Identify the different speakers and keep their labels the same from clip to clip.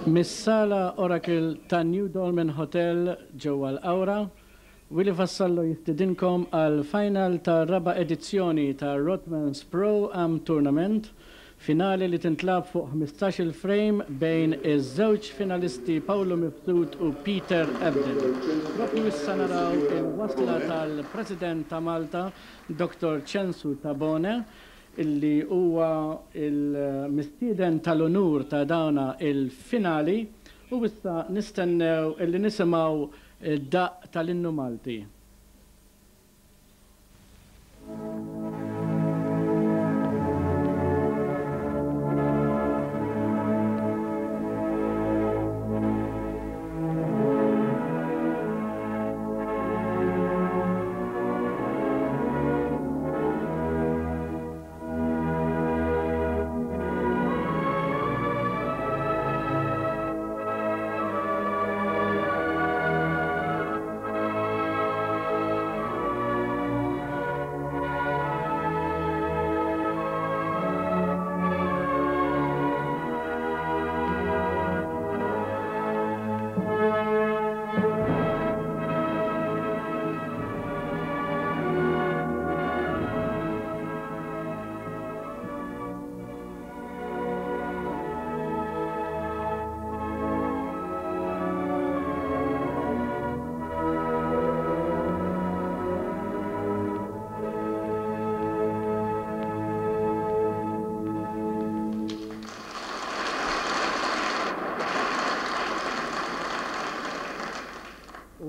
Speaker 1: Mis-Sala Oracle tan-New Dolmen Hotel ġewwa l-Qawra, Willie Vassallo jistidinkom għall-final tar-raba' edizzjoni tar-Rothmans Pro Am Tournament, finali li tintlagħab fuq 15-il frame bejn iż-żewġ finalisti Paolo Mifsud u Peter Ebdon. Propju issa naraw il-wasla tal-President ta' Malta, Dottor Ċensu Tabone, illi huwa l-mistieden tal-unur ta' dawna il-finali u issa nistennew illi nisimgħu d-daqq tal-Innu Malti.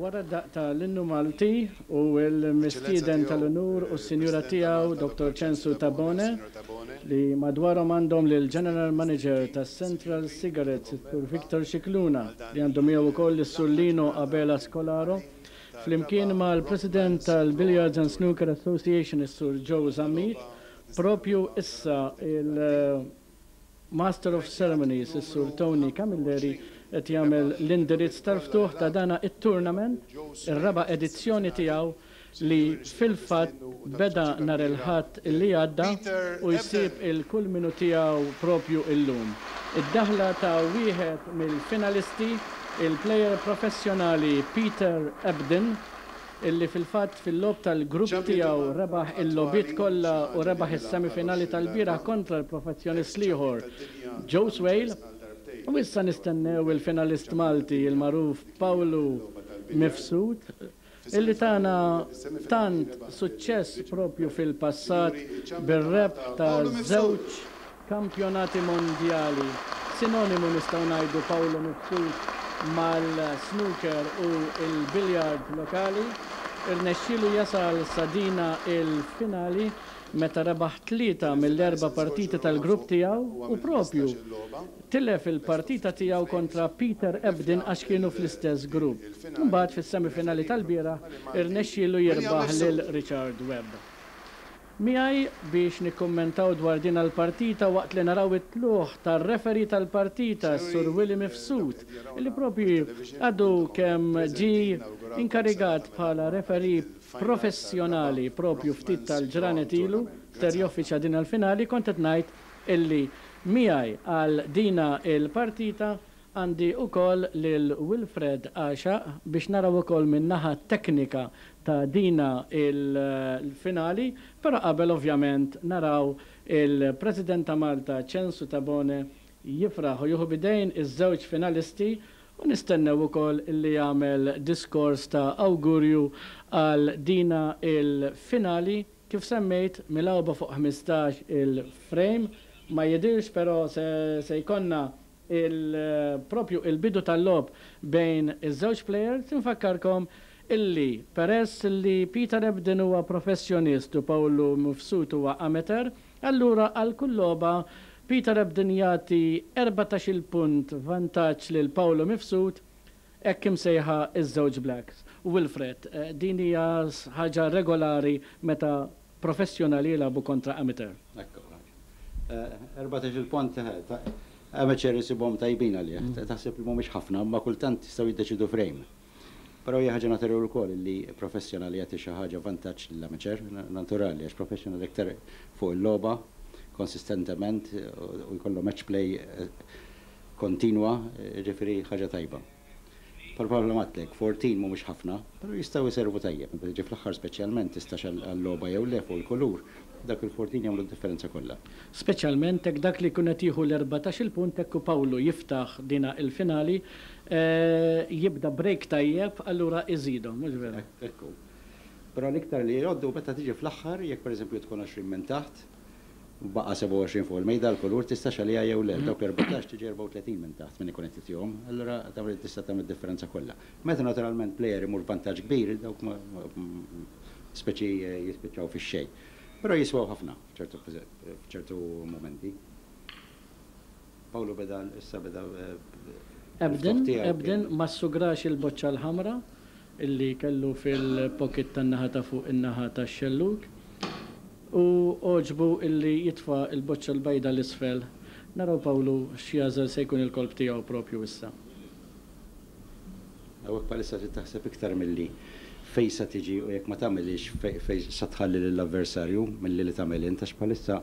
Speaker 1: Wara d-daqq ta' l-Innu Malti u l-mistieden tal-unur u s-Sinjura tiegħu Dottor Ċensu Tabone li madwarhom għandhom lill-General Manager tas-Central Cigarettes is-Sur Victor Scicluna li għandu miegħu wkoll is-Sur Lino Abela Scolaro flimkien mal-President tal-Billiards and Snooker Association is-Sur Joe Zammit propju issa il Master of Ceremonies, is-Sur Tony Camilleri qed jagħmel l-indirizz tal-ftuħ ta' dana it-tournament, ir-raba' edizzjoni tiegħu li fil-fatt beda nhar il-Ħadd li għadda u jsib il-kulminu tiegħu propju illum. Id-daħla ta' wieħed mill-finalisti, il-plejer professjonali Peter Ebdon, illi fil-fatt fil-logħob tal-grupp tiegħu rebaħ il-logħbiet kollha u rebaħ is-semifinali tal-bieraħ kontra l-professjonist l-ieħor Joe Swail u issa nistennew il-finalist Malti il-magħruf Pawlu Mifsud illi tana tant suċċess propju fil-passat bir-rebħ ta' żewġ Kampjonati Mondjali, sinonimu nistgħu ngħidu Paolo Mifsud mal-snooker u l-billiard lokali, irnexxielu jasal sa dina il-finali meta rebaħ tlieta mill-erba' partiti tal-grupp tiegħu u propju tilef il-partita tiegħu kontra Peter Ebdon għax kienu fl-istess grupp. Imbagħad fis-semifinali tal-bieraħ irnexxielu jirbaħ lil Richard Webb. Miegħi biex nikkummentaw dwar din l-partita waqt li naraw it-tlugħ tar-referee tal-partita s-Sur Willie Mifsud li propju għadu kemm ġie inkarigat bħala referee professjonali propju ftit tal-ġranet ilu ser joffiċja din l-finali kont qed ngħid illi miegħi għal dina l-partita Għandi ukoll lil Wilfred Għaxaq biex naraw ukoll min-naħa teknika ta' dina il-finali, però qabel ovvjament naraw il-President ta' Malta Ċensu Tabone jifraħ u jieħu b'idejn iż-żewġ finalisti u nistennew ukoll li jagħmel diskors ta' awgurju għal dina il-finali kif semmejt milgħuba fuq 15 il-frame. Ma jidhirx però se se jkollna il proprju il-bidu tal-logħob bejn iż-żewġ plejers. Infakkarkom illi peress li Peter Ebdon huwa professjonist u Pawlu Mifsud huwa amateur, allura għal kull logħba Peter Ebdon jagħti 14-il punt vantaġġ lil Pawlu Mifsud, hekk imsejħa iż-żewġ blacks. Wilfred, din hija ħaġa regolari meta professjonali jilagħbu kontra amateur.
Speaker 2: Hekk hu. 14-il punt amateur isibhom tajbin għalih. Taħseb li mhumiex ħafna, imma kultant jistgħu jiddeċiedu frame. Però hija ħaġa naturali wkoll li professjonali jagħti xi ħaġa vantaġġ lill-amateur, naturali għax professional iktar fuq il-logħba konsistentement u jkollu match play. Kontinwa, jiġifieri ħaġa tajba. Bħal bħal għedtlek, 14 mhumiex ħafna, però jistgħu jservu tajjeb. Meta tiġi fl-aħħar speċjalment tistax għal-logħba jew le fuq il-kulur, dak il-14 jagħmlu d-differenza kollha.
Speaker 1: Speċjalment hekk dak li jkun qed jieħu l-14-il punt hekk u Pawlu jiftaħ dina il-finali, jibda break tajjeb, allura iżidhom, mhux vera?
Speaker 2: Ekku. Però l-iktar li jgħoddu meta tiġi fl-aħħar, jekk pereżempju tkun 20 minn taħt, baqa' 27 fuq il-mejda l-kulur tistax għaliha jew le. Dawk l-14 tiġi 34 minn taħt min ikun qed jitihom, allura tista' tagħmel differenza kollha. Meta naturalment player imur vantaġġ kbir, dawk speċi jispiċċaw fix-xejn. Però jiswew ħafna f'ċertu momenti. Pawlu beda issa beda
Speaker 1: Ebden, Ebden ma sugrax il-boċċa l-ħamra illi kellu fil-pocket tan-naħa ta' fuq in-naħa tax-xellug u għoġbu illi jitfa' il-boċċa l-bajda l-isfel. Naraw Pawlu x'jagħżel se jkun il-kolp tiegħu propju issa.
Speaker 2: Hawnhekk bħalissa trid taħseb iktar milli fejn sa tiġi u jekk ma tagħmilix fejn sa tħalli lill-avversarju milli li tagħmel int għax bħalissa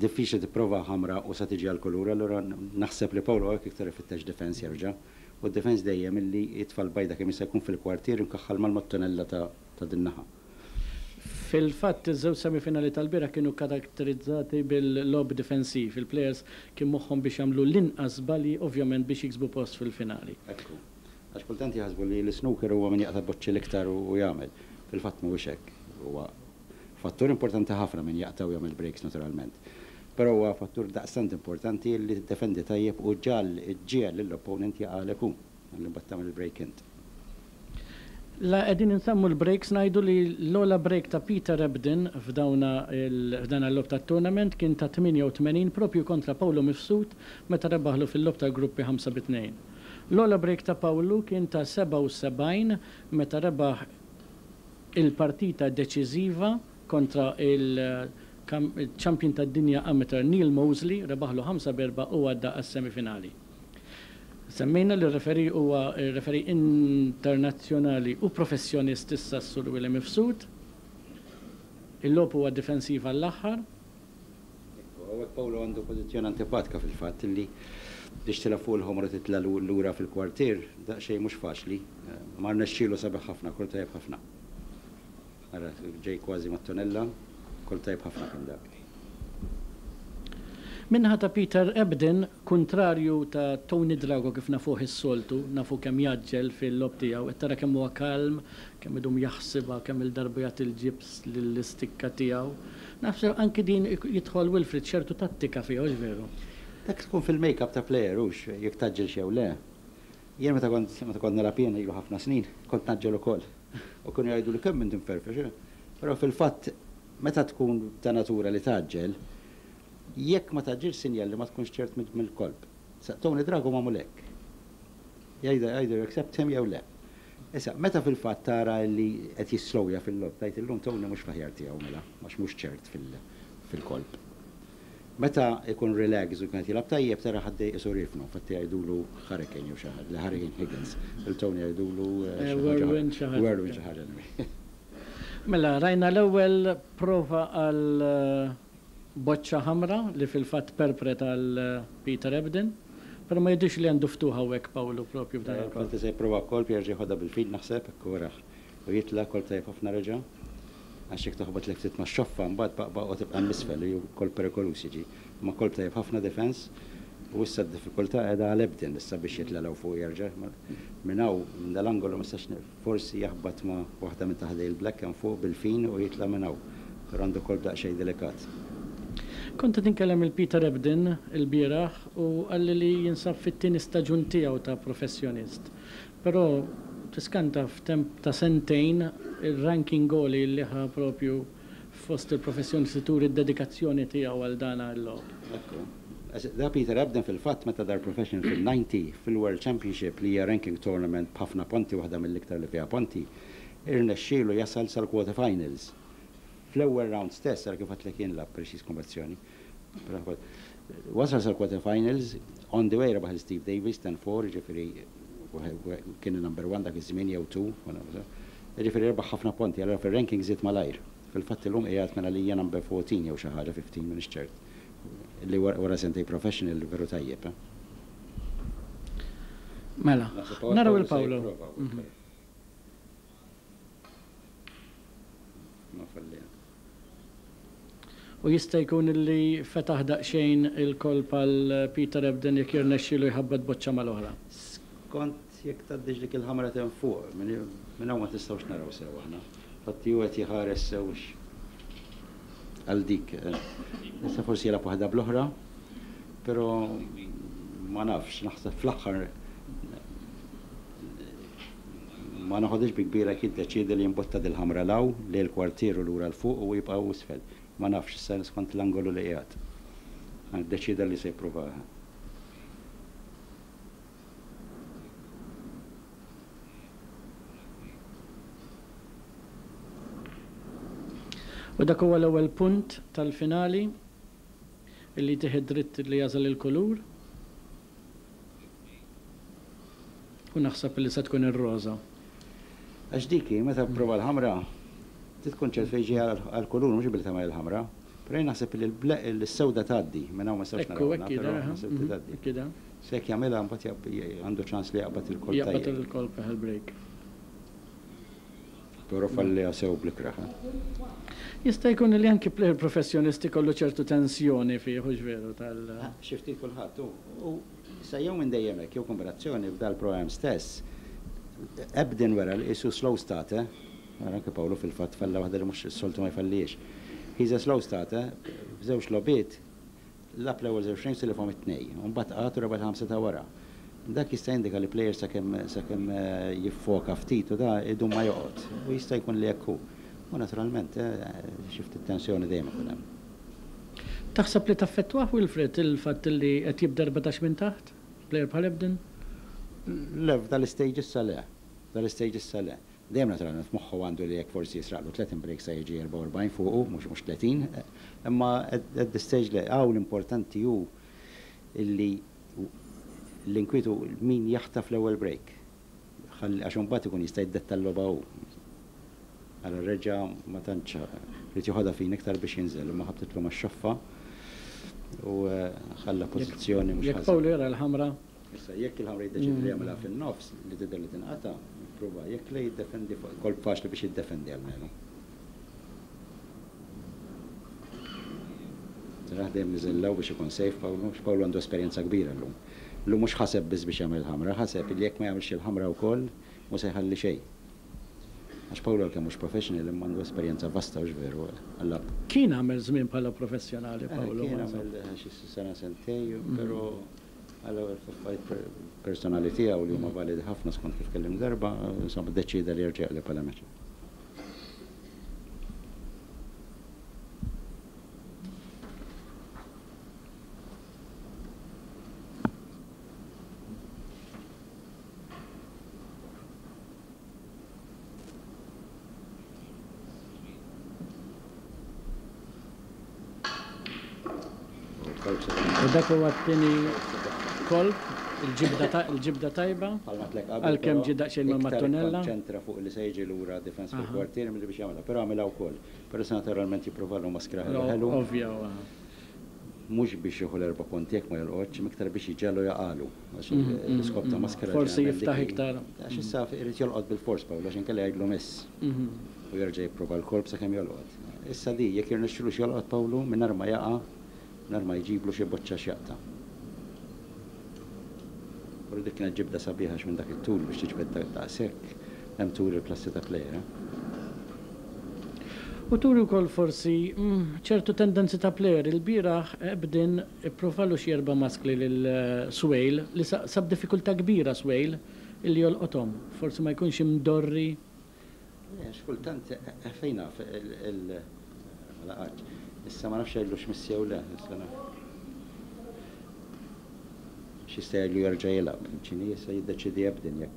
Speaker 2: diffiċli tipprova ħamra u sa tiġi għal-kulur, allura naħseb li Pawlu hawnhekk iktar ifittex defense jerġa'. U d-defense dejjem illi jitfa' l-bajda kemm jista' jkun fil-kwartier imkaħħal mal-mattonella ta' din-naħa.
Speaker 1: Fil-fatt, iż-żewġ semifinali tal-bieraħ kienu karakterizzati bil-logħob difensiv. Il-players kien moħħhom biex jagħmlu l-inqas żbalji ovvjament biex jiksbu post fil-finali.
Speaker 2: Ekku. Għax kultant jaħsbu li l-snooker huwa min jaqta' boċċi l-iktar u jagħmel. Fil-fatt mhuwiex hekk. Huwa fattur importanti ħafna min jaqta' u jagħmel breaks naturalment. Però huwa fattur daqstant importanti li tiddefendi tajjeb u ġal ġiegħel lill-opponent jaqgħalek hu. Għalli mbagħad tagħmel il-break int.
Speaker 1: La qegħdin insemmu l-breaks ngħidu li l-ogħla break ta' Peter Ebdon f'dawna f'dan il-logħob tat-tournament kien ta' 88 propju kontra Pawlu Mifsud meta rebaħlu fil-logħob tal-gruppi 5-2. L-ogħla break ta' Pawlu kien ta' 77 meta rebaħ il-partita deċiżiva kontra il-champion tad-dinja amateur Neil Mosley, rebaħlu 5-4 u għadda għas-semifinali. Semmejna li r-referee huwa referee internazzjonali u professjonist issa s-Sur William Mifsud. Il-logħob huwa difensiv għall-aħħar.
Speaker 2: Hawnhekk Pawlu għandu pożizzjoni antipatika fil-fatt li biex tilgħab fuq il-ħomra titla' lura fil-kwartier, daqsxejn mhux faċli. Ma rnexxielu sabiħ ħafna, kolp tajjeb ħafna. Ara, ġej kważi mat-tonella, kolp tajjeb ħafna kien dak.
Speaker 1: Min-naħa ta' Peter Ebdon, kontrarju ta' Tony Drago kif nafuh is-soltu, nafu kemm jaġġel fil-logħob tiegħu, qed tara kemm huwa kalm, kemm idum jaħsibha, kemm il-darba jagħti l-ġibs lill-istikka tiegħu. Naħseb anki din jidħol Wilfred ċertu tattika fiha, hux veru?
Speaker 2: Dak tkun fil-make-up ta' player hux jekk taġġel jew le. Jien meta kont nilgħab jien ilu ħafna snin, kont naġġel ukoll. U kienu jgħidu li kemm inti mferfex. Però fil-fatt meta tkun ta' natura li taġġel, jekk ma taġġilx sinjal li ma tkunx ċert mill-kolp. Tony Drago ma mulek. Jgħidha either accept him jew le. Issa, meta fil-fatt tara li qed jislowja fil-logħob, tgħid illum Tony mhux fl-aħjar tiegħu mela, għax mhux ċert fil-kolp. Meta ikun relax u kien jilgħab tajjeb tara ħaddej isu rifnu, fatti jgħidulu Hurricane jew xi ħaġa, li Hurricane Higgins. Il-Tony jgħidulu
Speaker 1: Whirlwind xi ħaġa.
Speaker 2: Whirlwind xi ħaġa.
Speaker 1: Mela, rajna l-ewwel prova għal boċċa ħamra li fil-fatt perpret għal Peter Ebdon. Però ma jidhirx li għandu ftuħ hawnhekk Pawlu propju f'dan il-kolp.
Speaker 2: Kont se jipprova kolp jerġa' jħodha bil-fil naħseb, kuraħ. U jitla' kolp tajjeb ħafna reġa'. Għax jekk toħbot lek ftit ma' xoffa mbagħad baqbaq u tibqa' misfel u kolp perikoluż jiġi. Ma kolp tajjeb ħafna defense. U issa d-diffikultà qiegħda għal Ebdon issa biex jitla' 'l fuq jerġa'. Minn hawn, minn dal-angolu ma nistax forsi jaħbat ma' waħda minn taħdej il-black hemm fuq bil-fin u jitla' minn hawn. Però għandu kolp daqsxejn delikat.
Speaker 1: Kont qed inkellem il-Peter Ebdon il-bieraħ u qalli li jinsab fit-tieni staġun tiegħu ta' professjonist. Però tiskanta f'temp ta' sentejn il-ranking għoli li ħa propju fost il-professjonisti turi d-dedikazzjoni tiegħu għal dan il-logħob.
Speaker 2: Ekku. Da Peter Ebdon fil-fatt meta dar professional fil-90 fil-World Championship li hija ranking tournament b'ħafna ponti waħda mill-iktar li fiha ponti, irnexxielu jasal sal-quarter finals. Fl-ewwel round stess, għal kif għedtlek jien la preċiż konverzjoni. Wasal sal-quarter finals, on the way rebaħ Steve Davis 10-4, ġifieri kien number one dak iż-żmien jew two, ġifieri rebaħ ħafna ponti, allura fil-ranking żied malajr. Fil-fatt illum qiegħed mela li hija number 14 jew xi ħaġa 15 minn ċert. Li wara sentej professional veru tajjeb.
Speaker 1: Mela, naraw 'il Paolo. U jista' jkun illi fetaħ daqsxejn il-kolp għal Peter Ebdon jekk jirnexxielu jħabbat boċċa mal-oħra.
Speaker 2: Skont jekk tgħaddix dik il-ħamra t'hemm fuq, minn hawn ma tistgħux naraw sew aħna. Infatti hu qed jħares sew għal dik. Issa forsi jilgħab waħda bl-oħra, però ma nafx, naħseb fl-aħħar ma noħodhiex bi kbira jekk jiddeċiedi li jimbotta dil-ħamra 'l hawn, lejn il-kwartier u lura 'l fuq u hu jibqa' isfel. Ma nafx, issa skont l-angolu li qiegħed. Ddeċieda li se jippruvaha.
Speaker 1: U dak huwa l-ewwel punt tal-finali illi jtih id-dritt li jagħżel il-kulur. U naħseb li se tkun ir-roża.
Speaker 2: Għax dik hi, meta pprova l-ħamra, trid tkun ċert fejn ġejja għall-kulur, mhux billi tagħmel il-ħamra. Però jien naħseb li s-sewda tgħaddi, minn hawn ma nistgħux
Speaker 1: narawha, però naħseb li tgħaddi. Hekk hi.
Speaker 2: Se jekk jagħmilha mbagħad għandu ċans li jaqbad il-kolp
Speaker 1: tajjeb. Jaqbad il-kolp eħe l-break.
Speaker 2: Però falliha sew bl-ikrah, eh.
Speaker 1: Jista' jkun li anki plejer professjonist ikollu ċertu tensjoni fih, hux veru, tal.
Speaker 2: Xi ftit kulħadd, u issa jew minn dejjem hekk jew kombinazzjoni f'dal-pro-am stess, Ebdin wera li qisu slow starter, ara anke Paolo fil-fatt falla waħda li mhux is-soltu ma jfallihiex. He's a slow starter, f'żewġ logħbiet Lagħab l-ewwel żewġ frames tilifhom it-tnejn, u mbagħad qagħad u rebaħ il-ħamsa ta' wara. Dak jista' jindika li plejer sakemm sakemm jiffoka ftit u da idum ma joqgħod. U jista' jkun li hekk hu. U naturalment xi ftit tensjoni dejjem ikun hemm.
Speaker 1: Taħseb li taffettwah Wilfred il-fatt li qed jibda 14 minn taħt, plejer bħal Ebden?
Speaker 2: Le, f'dal-istage issa le. F'dal-istage issa le. Dejjem naturalment f'moħħu għandu li jekk forsi jisraqlu 30 break sa jiġi 44 fuqu, mhux mhux 30, imma at this stage le. Hawn l-importanti hu illi l-inkwiet hu min jaħtaf l-ewwel break. Ħalli għax imbagħad ikun jista' jiddetta l-logħba hu. Ara reġa' ma tantx ried joħodha fin iktar biex jinżel imma ħabtitlu max-xoffa u ħalla pożizzjoni mhux
Speaker 1: Jekk Paolo
Speaker 2: ħażina.
Speaker 1: jara l-ħamra
Speaker 2: Issa, jekk il-ħamra jiddeċiedi li jagħmilha fin-nofs, li tidher li tinqata', jipprova, jekk le jiddefendi fuq kolp faċli biex jiddefendi almenu. Taraħ dejjem niżel 'l hawn biex ikun safe Pawlu, għax Pawlu għandu esperjenza kbira llum. Llum mhux ħaseb biss biex jagħmel il-ħamra, ħaseb li jekk ma jagħmilx il-ħamra wkoll mhu se jħalli xejn. Għax Pawlu għalkemm mhux professional imma għandu esperjenza vasta hux veru għal-lagħab.
Speaker 1: Kien għamel żmien bħala professjonali Pawlu.
Speaker 2: Kien għamel xi sena sentej, però Għall-ewwel f'affarijiet personali tiegħu li huma validi ħafna skont kif kellimt darba, insomma ddeċieda li jerġa' jaqleb għal amateur.
Speaker 1: U dak huwa t-tieni kolp, il-ġibda tajba, għalkemm ġie daqsxejn mal-mattunella.
Speaker 2: Iktar ikkonċentra fuq li se jiġi lura defense fil-kwartier milli biex jagħmilha, però għamilha wkoll. Però issa naturalment jipprovalu maskra ħelu ħelu.
Speaker 1: Ovvja.
Speaker 2: Mhux biex jieħu l-erba' punti jekk ma jolqotx, imma iktar biex jġegħlu jaqagħlu. Għax l-iskop ta' maskra.
Speaker 1: Forsi jiftaħ iktar.
Speaker 2: Għax issa irid jolqot bilfors Paolo għax inkella jgħidlu miss. U jerġa' jipprova l-kolp sakemm jolqot. Issa di, jekk jirnexxilux jolqot Pawlu, mingħajr ma jaqa', mingħajr ma jġiblu xi boċċa x'jaqta'. Però dik kienet ġibda sabiħa għax minn dak it-tul biex tiġbed daqshekk, hemm turi l-klassi ta' plejer, eh.
Speaker 1: U turi wkoll forsi ċertu tendenzi ta' plejer. Ilbieraħ Ebdin ippruvalu xi erba' maskli lil Swale li sab diffikultà kbira Swale illi jolqothom. Forsi ma jkunx imdorri.
Speaker 2: Le, għax kultant, fejn naf, il, ma laqatx. Issa ma nafx jgħidlux miss jew le, issa naf. X'jista' jgħidlu jerġa' jilgħab. X'inhi issa jiddeċiedi Ebdin jekk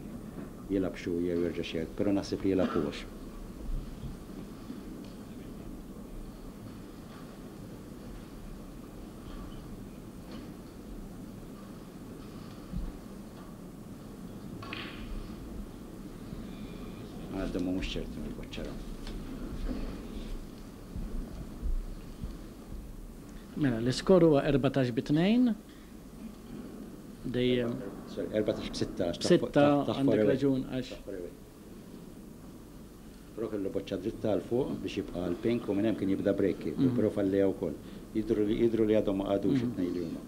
Speaker 2: jilgħabx hu jew jerġax jgħid, però naħseb li jilgħab hu għax. Għadhom mhumiex ċerti mill-boċċa.
Speaker 1: Mela, l-iskor huwa 14 bi 2. Dejjem.
Speaker 2: Sorry, 14 b'6.
Speaker 1: B'sitta għandek raġun għax.
Speaker 2: Però kellu boċċa dritta għal fuq biex jibqa' għal pink u minn hemm kien jibda break kieku, però falliha wkoll. Jidhru li jidhru li għadhom ma qagħdux it-tnejn li huma.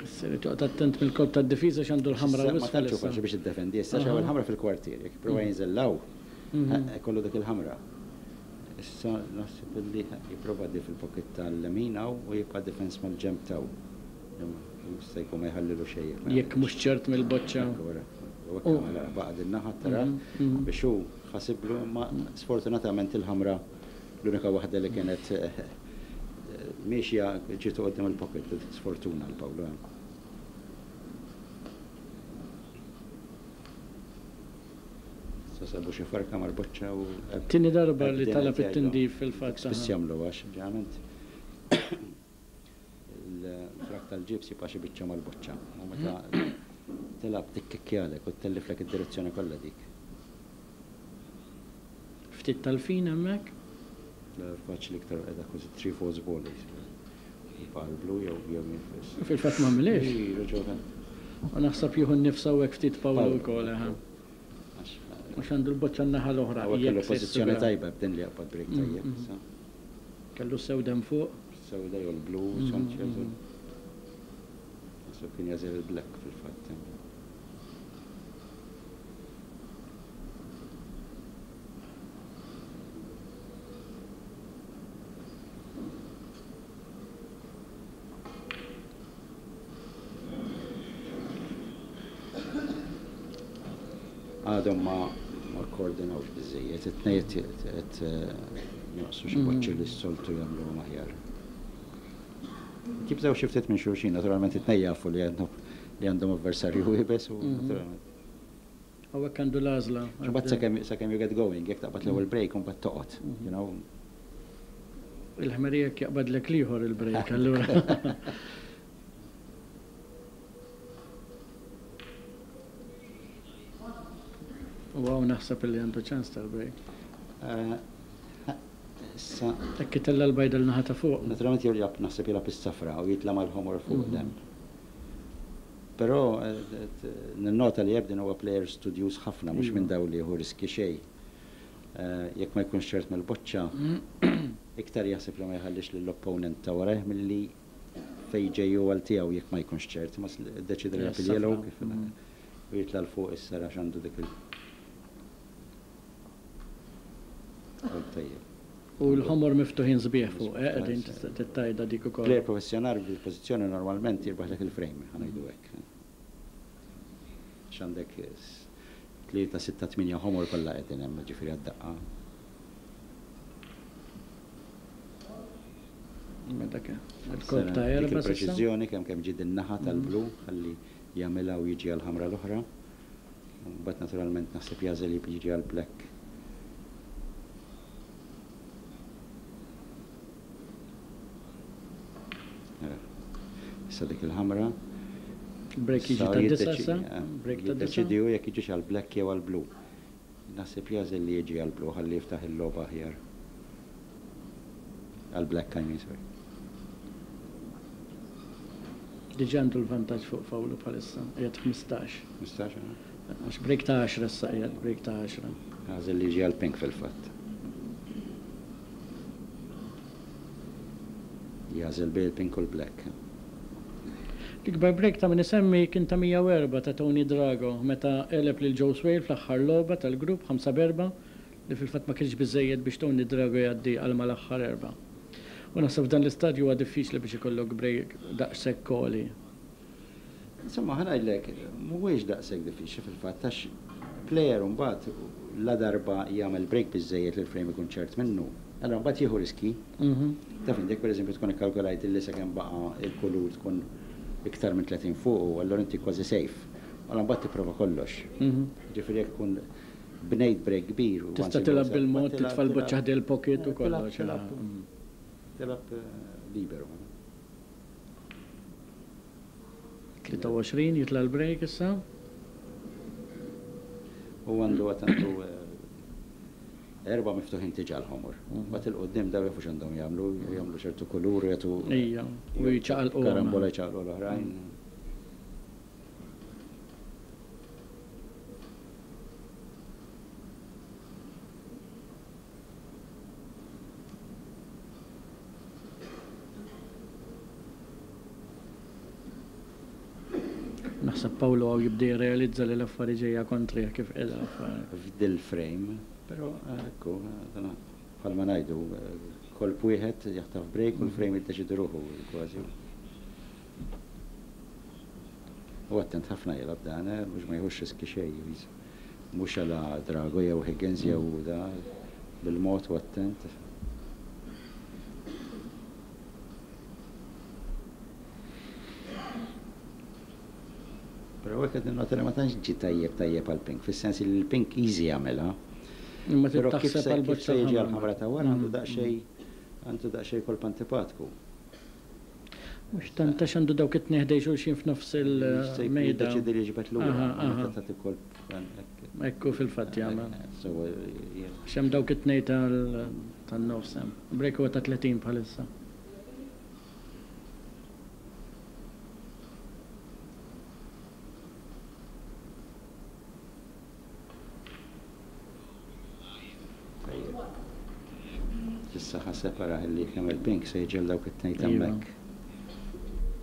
Speaker 1: Issa irid joqgħod attent mill-kolp tad-difiża għax għandu l-ħamra
Speaker 2: u Ma tantx hu faċli biex iddefendi issa għax hawn il-ħamra fil-kwartier, jekk jipprova jinżel 'l hawn, ikollu dik il-ħamra. Issa naħseb illi jipprova di fil-pocket tal-lemin hawn u jibqa' defense mal-ġenb t'hawn. Jista' jkun ma jħallilu xejn
Speaker 1: jekk ma Jekk mhux ċert mill-boċċa.
Speaker 2: Ekku wara. U hekk għamel ara baqa' din naħa tarah biex hu ħasiblu imma sfortunatament il-ħamra l-unika waħda li kienet miexja ġietu quddiem il-pocket. Sfortuna għal Pawlu hemm. Issa sabu xi farka mal-boċċa u.
Speaker 1: Tieni darba li talab it-tindif fil-fatt.
Speaker 2: Spiss jagħmluha għax ġeneralment il-frak tal-ġibs jibqa' xi biċċa mal-boċċa u meta tilgħab tikkikkjalek u ttelliflek id-direzzjoni kollha dik.
Speaker 1: Ftit tal-fin hemmhekk.
Speaker 2: Faċli iktar qiegħda kważi 3/4 ball Jibqa' l-blu jew jew jinfes.
Speaker 1: Fil-fatt m'għamilhiex. U naħseb jieħu n-nifs hawnhekk ftit Paolo wkoll, eħe. Għax għandu l-boċċa n-naħa l-oħra.
Speaker 2: Hawnhekk kellu pożizzjoni tajba b'din li jaqbad break tajjeb issa.
Speaker 1: Kellu s-sewda hemm fuq.
Speaker 2: Sewda jew l-blu, skont x'jagħżel. Naħseb kien jagħżel il-black fil-fatt. Għadhom ma ma kkoordinawx biżżejjed, it-tnejn qed jonqsu xi boċċi li s-soltu jagħmluhom aħjar. Jibżgħu xi ftit minn xulxin, naturalment it-tnejn jafu li għandhom li għandhom avversarju iebes u naturalment.
Speaker 1: Hawnhekk għandu l-għażla.
Speaker 2: Imbagħad sakemm sakemm you get going, jekk taqbad l-ewwel break u mbagħad toqgħod, you know.
Speaker 1: Il-ħmerija jekk jaqbadlek l-ieħor il-break allura. U hawn naħseb illi għandu ċans tal-break.
Speaker 2: Issa.
Speaker 1: Hekk itella' l-bajda l-naħa ta' fuq.
Speaker 2: Naturalment jew jilgħab naħseb jilgħab is-safra u jitla' mal-ħomor fuq hemm. Però ninnota li Ebden huwa plejer studjuż ħafna, mhux minn dawn li jieħu riskji xejn. Jekk ma jkunx ċert mill-boċċa, iktar jaħseb li ma jħallix lill-opponent ta' warajh milli fejn ġej hu għal tiegħu jekk ma jkunx ċert. Imma ddeċieda li jilgħab il-yellow kif u jitla' 'l fuq issa għax għandu dik il- Tajjeb.
Speaker 1: U l-ħomor miftuħin sbieħ fuq, eh, qegħdin tittajda dik ukoll.
Speaker 2: Plejer professjonali f'dil-pożizzjoni normalment jirbaħlek il-frame, ħa ngħidu hekk. Għax għandek 3, 6, 8 ħomor kollha qegħdin hemm, ġifieri għad-daqqa.
Speaker 1: Dak il-kolp ta' erba'
Speaker 2: Dik il-preċiżjoni kemm kemm ġie din-naħa tal-blu ħalli jagħmilha u jiġi għall-ħamra l-oħra. Mbagħad naturalment naħseb jagħżel jiġi għall-black. Issa dik il-ħamra.
Speaker 1: Break jiġi ta' disa issa?
Speaker 2: Break ta' disa. Jiddeċidi hu jekk jiġix għall-black jew għall-blu. Naħseb jagħżel li jiġi għall-blu ħalli jiftaħ il-logħba aħjar. Għall-black I mean, sorry.
Speaker 1: Diġà għandu l-vantaġġ fuq Fawlu bħalissa, qiegħed 15.
Speaker 2: 15, eh?
Speaker 1: Għax break ta' 10 issa qiegħed, break ta' 10.
Speaker 2: Għażel li jiġi għall-pink fil-fatt. Jagħżel bejn il-pink u l-black.
Speaker 1: L-ikbar break ta' min isemmi kien ta' 104 ta' Tony Drago meta għeleb lil Joe Swail fl-aħħar logħba tal-grupp 5 b'erbgħa li fil-fatt ma kienx biżżejjed biex Tony Drago jgħaddi għal mal-aħħar erbgħa. U naħseb f'dan l-istadju huwa diffiċli biex ikollok break daqshekk għoli.
Speaker 2: Insomma, ħa ngħidlek, mhuwiex daqshekk diffiċli fil-fatt għax player imbagħad ladarba jagħmel break biżżejjed li l-frame ikun ċert minnu, allura mbagħad jieħu riski. Taf inti jekk pereżempju tkun ikkalkulajt illi sakemm baqa' il-kulur tkun iktar minn 30 fuqu, allura inti kważi safe. Allura mbagħad tipprova kollox. Jiġifieri jekk tkun bnejt break kbir u
Speaker 1: Tista' tilgħab bil-mod, titfa' l-boċċa ħdejn il-pocket u kollox.
Speaker 2: Tilgħab liberu.
Speaker 1: 23 jitla' l-break issa.
Speaker 2: U għandu għad għandu. Erbgħa miftuħin diġà l-ħomor. Mbagħad 'il quddiem dawn jafu x'għandhom jagħmlu, jagħmlu ċertu kulur u jagħtu.
Speaker 1: Ija, u jċaqalquhom.
Speaker 2: Karambola jċaqalqu l-oħrajn.
Speaker 1: Naħseb Paolo hawn jibda jirrealizza li l-affari ġejja kontrih kif qiegħda l-affari.
Speaker 2: F'dil-frame, però ekku, bħalma ngħidu, kolp wieħed jaħtaf break u l-frame jiddeċiedi ruħu kważi. U attent ħafna jilgħab dan, mhux ma jieħux riski xejn. Mhux għala Drago jew Higgins jew da, bil-mod u attent. Però hekk qed ninnota li ma tantx ġie tajjeb tajjeb għall-pink, fis-sens li l-pink easy jagħmilha.
Speaker 1: Imma trid
Speaker 2: Però kif
Speaker 1: taħseb
Speaker 2: se kif
Speaker 1: għall-boċċa
Speaker 2: se jiġi
Speaker 1: l-ħamra.
Speaker 2: għall-ħamra ta' wara għandu daqsxejn għandu daqsxejn kolp antipatku.
Speaker 1: Mhux tant għax għandu dawk it-tnejn ħdejn xulxin f'nofs
Speaker 2: Se
Speaker 1: il-mejda.
Speaker 2: jiddeċiedi li jiġbed lura
Speaker 1: Aha,
Speaker 2: u meta
Speaker 1: aha.
Speaker 2: tagħti kolp hekk.
Speaker 1: Hekk hu fil-fatt jagħmel.
Speaker 2: Sewwa
Speaker 1: Għax hemm dawk it-tnejn tan-nofs hemm. Break huwa ta' 30 bħalissa.
Speaker 2: Tajjeb. Issa ħa separa li kemm il-pink se jiġi għal dawk it-tnejn
Speaker 1: Iva.
Speaker 2: t'hemmhekk.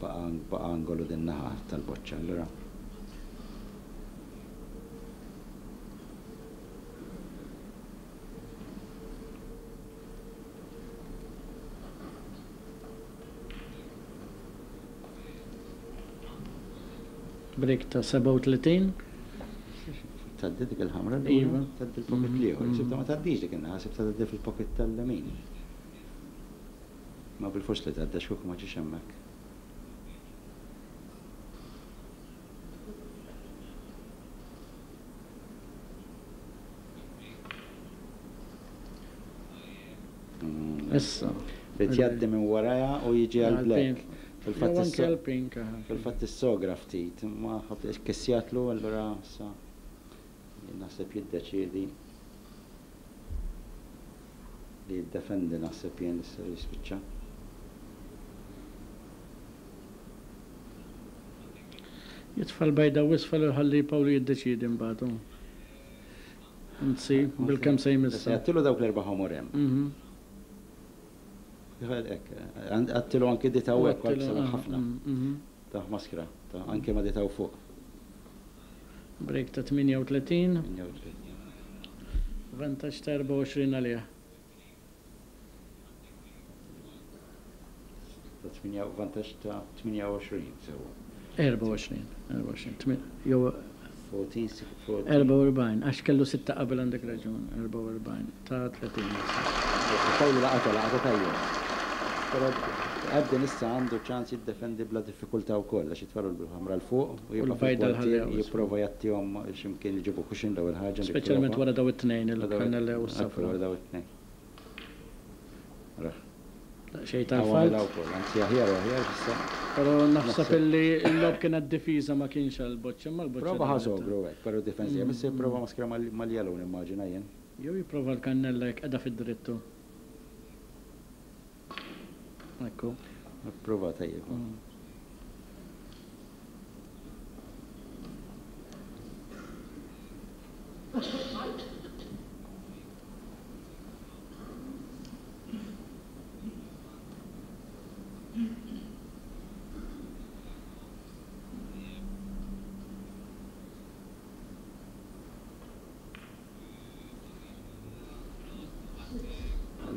Speaker 2: Baqa' baqa' angolu din naħa tal-boċċa allura.
Speaker 1: Break ta' 37.
Speaker 2: Tgħaddi dik il-ħamra
Speaker 1: Iva.
Speaker 2: lura, tgħaddi l-pocket l-ieħor. Sibta ma tgħaddix dik in-naħa, sibta tgħaddi fil-pocket tal-lemin. Ma bil-fors li tgħaddi għax kieku ma ġiex hemmhekk.
Speaker 1: Issa.
Speaker 2: Rid jgħaddi minn warajha u jiġi għall-black. Fil-fatt
Speaker 1: Jew anke
Speaker 2: issa
Speaker 1: għall-pink. aha.
Speaker 2: fil-fatt is-sogra ftit, ma ħadd kissjatlu allura issa jien naħseb jiddeċiedi li jiddefendi naħseb jien issa jispiċċa.
Speaker 1: Jitfa' l-bajda u isfel u jħalli Pawlu jiddeċiedi mbagħad hu. Anzi, bilkemm se
Speaker 2: Issa
Speaker 1: jmissha.
Speaker 2: jgħattilu dawk l-erba' ħomor hemm.
Speaker 1: Mhm.
Speaker 2: Hekk, għattilu anki dita
Speaker 1: U
Speaker 2: u hekk
Speaker 1: għattilu,
Speaker 2: sabaħ
Speaker 1: aha,
Speaker 2: ħafna. Ta' maskra, ta' anke ma dita u fuq.
Speaker 1: Break ta' 38,
Speaker 2: 38.
Speaker 1: vantaġġ ta' 24 għalih.
Speaker 2: Ta' 8 vantaġġ ta' 28 sewwa.
Speaker 1: 24, 24, jew
Speaker 2: 14, 14.
Speaker 1: 44, għax kellu sitta qabel għandek raġun, 44, ta' 30 issa.
Speaker 2: Pawlu laqata, laqata tajjeb. Però Ebden issa għandu ċans jiddefendi bla diffikultà wkoll għax jitfalu l-ħamra 'l fuq u jibqa'
Speaker 1: l-bajda
Speaker 2: fil-kwartier
Speaker 1: l-ħallew.
Speaker 2: jipprova jgħattihom x'imkien iġibu cushion l-ewwel ħaġa
Speaker 1: Speċjalment
Speaker 2: nipprova.
Speaker 1: wara daw it-tnejn,
Speaker 2: Wara daw
Speaker 1: il-kannella u
Speaker 2: ekku,
Speaker 1: s-safra.
Speaker 2: wara daw it-tnejn. Raħ.
Speaker 1: Xejn
Speaker 2: Hawn
Speaker 1: tal-falt.
Speaker 2: għamilha wkoll, anzi aħjar u aħjar issa.
Speaker 1: Però naħseb
Speaker 2: Naħseb.
Speaker 1: illi l-lob kienet difiża ma kienx għall-boċċa, imma l-boċċa
Speaker 2: Prova ħa
Speaker 1: daħlet.
Speaker 2: sogru hekk, però difensiva, issa jipprova maskra mal-yellow nimmaġina jien.
Speaker 1: Jew jipprova l-kannella jekk qiegħda fid-drittu. Ekku.
Speaker 2: Prova tajjeb.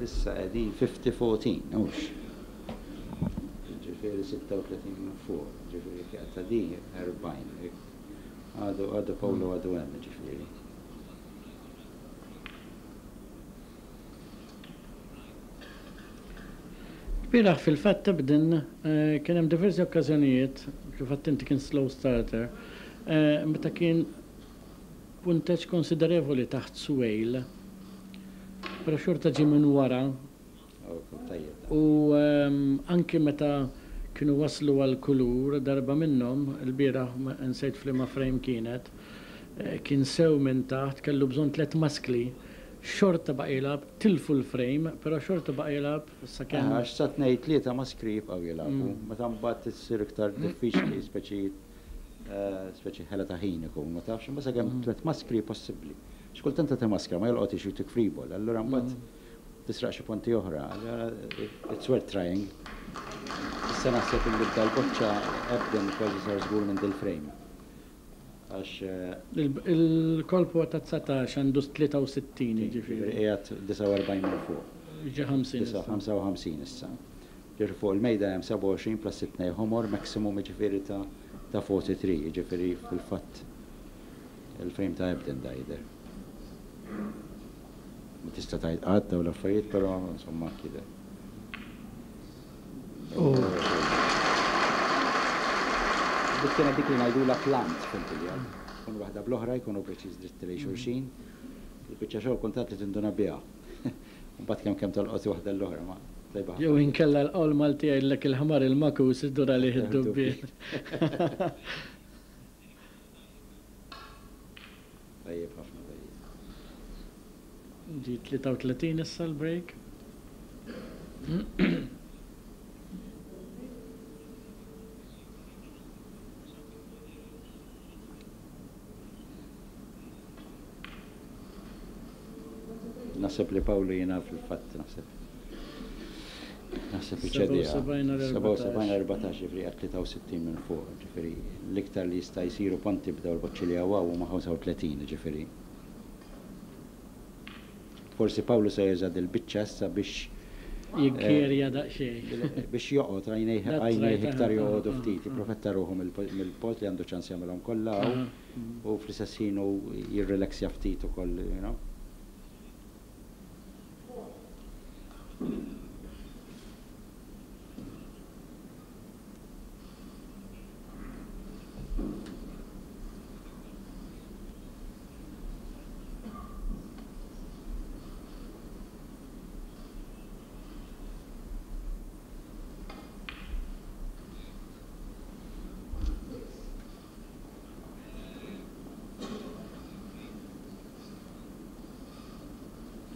Speaker 2: Issa qegħdin 50-14, hux. Ġifieri 36 minn fuq, ġifieri ta' di 40. Għadu għadu Paolo għadu hemm ġifieri.
Speaker 1: Bieraħ fil-fatt Ebden eh, kien hemm diversi okkażjonijiet, kif għedt inti kien slow starter, eh, meta kien punteġġ konsiderevoli taħt Swale, però xorta ġie minn wara
Speaker 2: Oh, tajjeb.
Speaker 1: u ehm, anki meta kienu waslu għal kulur darba minnhom, il-bieraħ ma- nsejt f'liema frame kienet, eh, kien sew minn taħt, kellu bżonn tliet maskli Xorta baqa' jilgħab, tilfu l-frame, però xorta baqa' jilgħab sakemm.
Speaker 2: Għax sa tnejn tlieta maskri jibqgħu jilagħbu. Meta mbagħad issir iktar diffiċli, speċi speċi ħela ta' ħin ikun, ma tafx, imma sakemm tlett maskri possibbli. Xi kultant tagħti maskra ma jolqotix u jtik free ball, allura mbagħad tisraq xi punti oħra. Allura it's worth trying. Issa naħseb illi b'dal-boċċa Ebden kważi sar żgur minn dil-frame. Għax.
Speaker 1: Il-kolp huwa ta' 19 għandu 63 jiġifieri.
Speaker 2: Jiġifieri qiegħed 49 minn fuq.
Speaker 1: Jiġi 50 issa.
Speaker 2: 55 issa. Jiġifieri fuq il-mejda hemm 27 plus it-tnejn ħomor maximum jiġifieri ta' ta' 43 jiġifieri fil-fatt il-frame ta' Ebden da jidher. Ma tista' tgħid qatt dawn l-affarijiet però insomma hekk jidher. Dik kienet dik li ngħidulha plant fil-billiard. Tkun waħda bl-oħra jkunu preċiż dritti lejn xulxin. Il-biċċa xogħol kuntant li tinduna biha. Imbagħad kemm kemm tolqot waħda l-oħra ma tajba ħafna.
Speaker 1: Jew inkella l-qawl Malti jgħidlek il-ħmar il-makus idur għalih id-dubbien.
Speaker 2: Tajjeb ħafna tajjeb.
Speaker 1: Ġie 33 issa l-break.
Speaker 2: Naħseb li Pawlu jiena fil-fatt naħseb. Naħseb iċediha.
Speaker 1: 77
Speaker 2: 14 ġifieri għal 63 minn fuq, ġifieri l-iktar li jista' jsiru ponti b'daw il-boċċi li hawn huma 35 ġifieri. Forsi Pawlu se juża dil-biċċa issa biex
Speaker 1: Jikkjerja daqsxejn.
Speaker 2: Biex joqgħod għajnejh għajnejh iktar joqogħdu ftit, jipprofetta ruħu mill-post li għandu ċans jagħmilhom kollha hawn u fl-istess ħin hu jirrilaxja ftit ukoll, you know.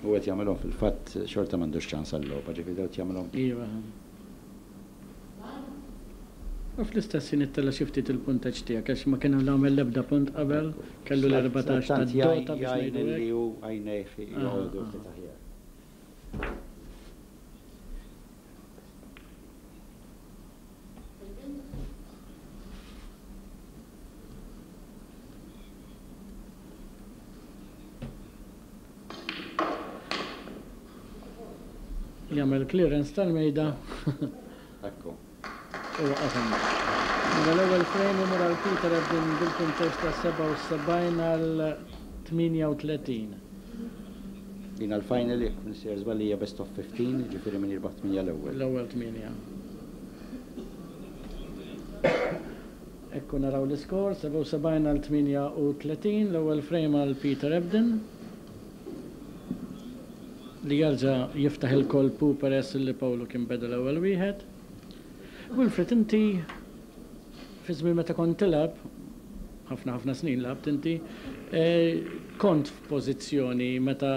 Speaker 2: U qed jagħmilhom fil-fatt xorta m'għandux ċans għal-logħba, ġifieri dawn qed jagħmilhom.
Speaker 1: Iva. U fl-istess ħin ittella' xi ftit il-punteġġ tiegħek għax ma kien għamel l-ebda punt qabel, kellu l-14 tad-dota biex
Speaker 2: Jgħin
Speaker 1: ngħidu
Speaker 2: li
Speaker 1: hekk.
Speaker 2: hu għajnejh joqogħdu ftit aħjar.
Speaker 1: Jagħmel clearance tal-mejda.
Speaker 2: Ekku.
Speaker 1: U waqaf hemmhekk. Mela l-ewwel frame imur għal Peter Ebdon bil-punteġġ ta' 77 għal 38.
Speaker 2: Din għall-final jekk m'iniex żball hija best of 15, jiġifieri min jirbaħ 8 l-ewwel.
Speaker 1: L-ewwel 8. Ekku naraw l-iskor, 77 għal 38, l-ewwel frame għal Peter Ebdon li jerġa' jiftaħ il-kolpu peress li Pawlu kien beda l-ewwel wieħed. Wilfred, inti fi żmien meta kont tilgħab, ħafna ħafna snin lgħabt inti, kont f'pożizzjoni meta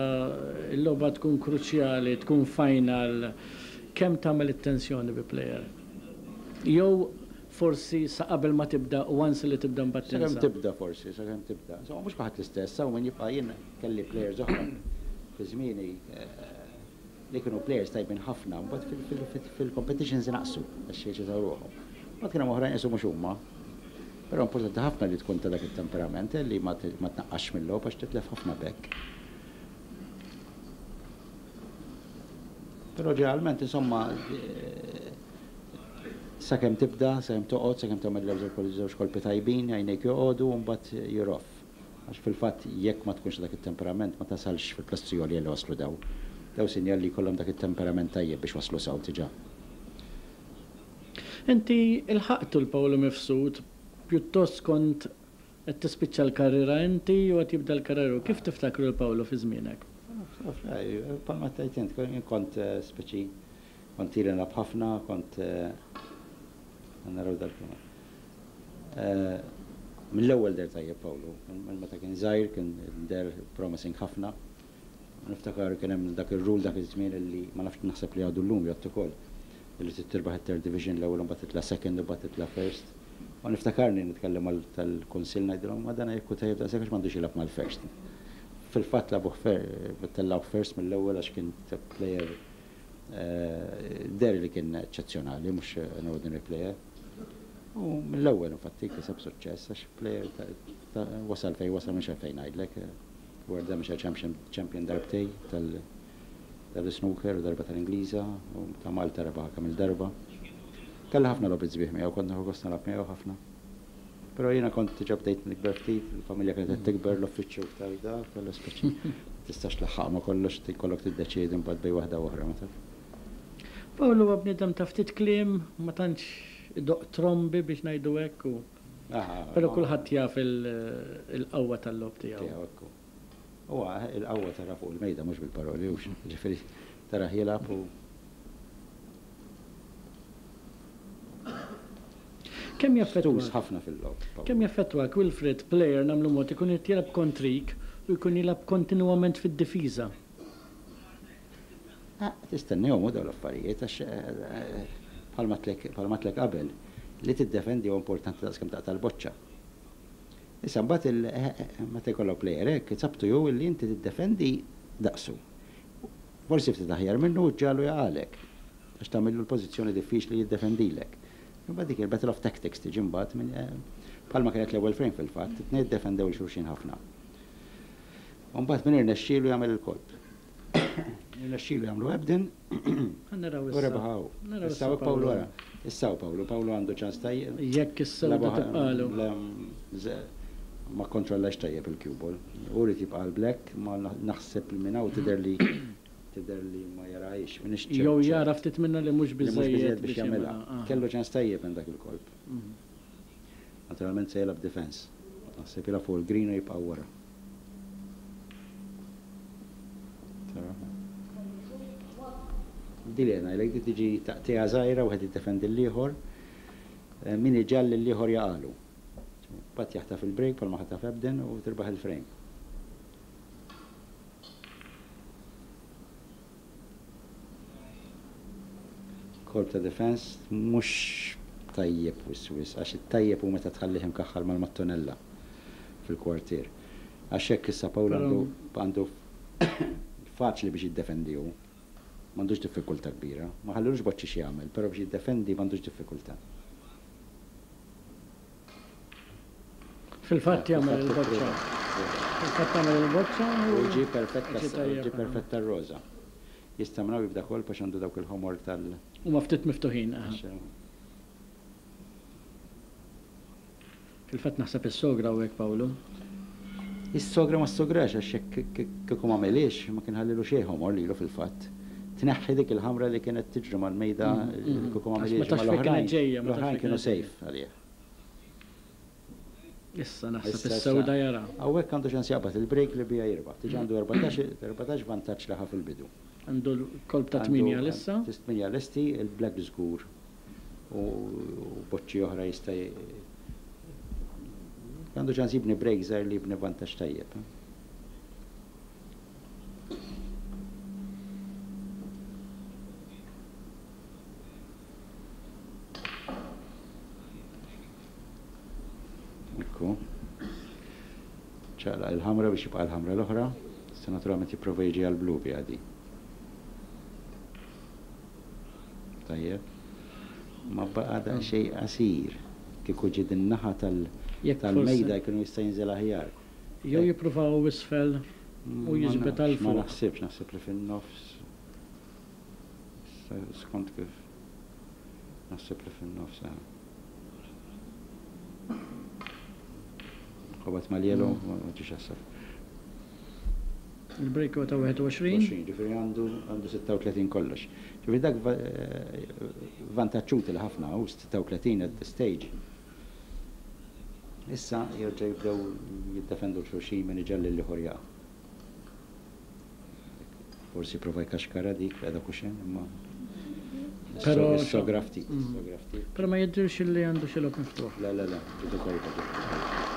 Speaker 1: l-logħba tkun kruċjali, tkun final, kemm tagħmel it-tensjoni bi player? Jew forsi sa qabel ma tibda u once li tibda mbagħad
Speaker 2: Sakemm
Speaker 1: tinsa?
Speaker 2: tibda forsi, sakemm tibda. Insomma mhux kulħadd l-istess, hawn min jibqa' jien kelli players oħra fi żmieni li kienu players tajbin ħafna, mbagħad fil-competitions inaqsu għax jeċitaw ruħhom. Mbagħad kien hemm oħrajn qisu mhux huma. Però importanti ħafna li tkun ta' dak it-temperament li ma tnaqqasx mill-logħob għax titlef ħafna b'hekk. Però ġeneralment insomma sakemm tibda, sakemm toqgħod, sakemm tagħmel żewġ kolpi tajbin, għajnejk joqogħdu u mbagħad you're off. Għax fil-fatt jekk ma tkunx dak it-temperament ma tasalx fil-klassi għolja li waslu daw. Daw sinjal li jkollhom dak it-temperament tajjeb biex waslu saw diġà.
Speaker 1: Inti ilħaqtu l-Pawlu Mifsud, pjuttost kont qed tispiċċa l-karriera inti u qed jibda l-karriera hu. Kif tiftakru l-Pawlu fi żmienek?
Speaker 2: Bħalma tgħid int, kont speċi kont ili nilgħab ħafna, kont naraw dal Mill-ewwel deher tajjeb Pawlu, minn meta kien żgħir kien deher promising ħafna. Niftakar kien hemm dak ir-rule dak iż-żmien illi ma nafx naħseb li għadu llum jgħodd ukoll, illi trid tirbaħ it-third division l-ewwel u mbagħad titla' second u mbagħad titla' first. U niftakarni nitkellem mal tal-kunsill ngħidilhom ma dan jekk hu tajjeb daqshekk għax m'għandux jilgħab mal-first. Fil-fatt lagħbuh tellgħuh first mill-ewwel għax kien player deher li kien eċċezzjonali mhux an ordinary player. U mill-ewwel infatti kiseb suċċess għax player wasal fejn wasal mhux għalfejn ngħidlek. World Amateur Champion darbtej tal-snooker u darba tal-Ingliża u ta' Malta rebaħha kemm il-darba. Kelli ħafna logħbiet sbieħ miegħu, kont nieħu gost nilgħab miegħu ħafna. Però jiena kont diġà bdejt nikber ftit, il-familja kienet qed tikber, l-uffiċċju iktar da, kellu speċi tistax tlaħħaq ma' kollox, jkollok tiddeċiedi mbagħad bejn waħda u oħra, ma taf.
Speaker 1: Pawl huwa bniedem ta' ftit kliem, ma tantx idoqq trombi biex ngħidu hekk u Però kulħadd jaf il-qawwa tal-logħob tiegħu.
Speaker 2: Tiegħu, ekku. Huwa il-qawwa tara fuq il-mejda mhux bil-paroli, hux. Ġifieri tarah jilgħab u.
Speaker 1: Kemm jaffettwak?
Speaker 2: Stus ħafna fil-logħob.
Speaker 1: Kemm jaffettwak, Wilfred, plejer nagħmlu mod ikun irid jilgħab kontrik u jkun jilgħab kontinwament fid-difiża?
Speaker 2: Tistennihom hu dawn l-affarijiet għax bħalma għedtlek qabel, li tiddefendi huwa importanti daqs kemm taqta' l-boċċa. Issa mbagħad meta jkollok plejer hekk, it's up to you li inti tiddefendi daqsu. Forsi ftit aħjar minnu u ġġagħlu jaqagħlek għax tagħmillu l-pożizzjoni diffiċli jiddefendilek. Imbagħad dik il-battle of tactics tiġi mbagħad minn bħalma kienet l-ewwel frame fil-fatt, it-tnejn iddefendew 'il xulxin ħafna. U mbagħad min irnexxielu jagħmel il-kolp. Irnexxielu jagħmlu Ebden.
Speaker 1: Naraw
Speaker 2: issa. U rebaħ hawn. Issa hawn Pawlu ara. Issa hawn Pawlu. Pawlu għandu ċans tajjeb.
Speaker 1: Jekk is-sewda tibqalu.
Speaker 2: Ma kkontrollax tajjeb il-cue ball. Hu ried jibqa' għall-black, ma naħseb li minn hawn tidher li tidher li ma jarahiex. M'iniex ċert.
Speaker 1: Jew jara ftit minnha li mhux biżżejjed
Speaker 2: biex jagħmilha. Kellu ċans tajjeb minn dak il-kolp. Naturalment se jilgħab defense. Naħseb jilgħab fuq il-green u jibqa' wara. Din li qed ngħidlek, din tiġi taqtigħa żgħira wieħed jiddefendi l-ieħor, min iġalli l-ieħor jaqagħlu. Mbagħad jaħtaf il-break bħalma ħataf Ebden u tirbaħ il-frame. Kolp ta' defense mhux tajjeb wisq wisq għax it-tajjeb hu meta tħallih imkaħħal mal-mattonella fil-kwartier. Għax hekk issa Paul għandu għandu faċli biex jiddefendi hu. M'għandux diffikultà kbira. Ma ħallilux boċċi x'jagħmel, però biex jiddefendi m'għandux diffikultà.
Speaker 1: Fil-fatt jagħmel il-boċċa. Fil-fatt għamel il-boċċa
Speaker 2: u ġie perfetta ġie perfetta r-roża. Jista' minn hawn jibda kolp għax għandu dawk il-ħomor tal.
Speaker 1: Huma ftit miftuħin. Fil-fatt naħseb is-sogra hawnhekk Pawlu.
Speaker 2: Is-sogra ma ssograx għax jekk kieku m'għamilhiex ma kien ħallilu xejn ħomor lilu fil-fatt. Tneħħi dik il-ħamra li kienet tiġri mal-mejda kieku m'għamilhiex imma l-oħrajn l-oħrajn kienu safe għalih.
Speaker 1: Issa naħseb is-sewda jara.
Speaker 2: Hawnhekk għandu ċans jaqbad il-break li biha jirbaħ. Diġà għandu 14 vantaġġ li ħa fil-bidu.
Speaker 1: Għandu l-kolp ta' tmienja lissa.
Speaker 2: Tmienja lesti, il-black żgur. U boċċi oħra jista' għandu ċans jibni break żgħir li jibni vantaġġ tajjeb. Ekku. Ċaqlaq il-ħamra biex jibqa' l-ħamra l-oħra. Issa naturalment jipprova jiġi għall-blu biha di. Tajjeb. Ma baqa' daqsxejn qasir. Kieku ġie din naħa tal-mejda jkun jista' jinżel aħjar.
Speaker 1: Jew jippruvaw isfel u jiġbed għal
Speaker 2: fuq. Ma naħsibx, naħseb li fin-nofs. Skont kif naħseb li fin-nofs. Ħobat mal-yellow, ma ġiex għas-saf.
Speaker 1: Il-break huwa ta' 21.
Speaker 2: 20, ġifieri għandu għandu 36 kollox. Ġifieri dak vantaġġ utili ħafna hu 36 at this stage. Issa jerġa' jibdew jiddefendu 'l xulxin min iġalli l-ieħor jaqa'. Forsi prova jkaxkara dik qiegħda kuxen imma
Speaker 1: Però
Speaker 2: is-sogra ftit, is-sogra ftit.
Speaker 1: Però ma jidhirx li għandu xi logħob miftuħ.
Speaker 2: Le, le, le, ġitu tajba, ġitu tajba.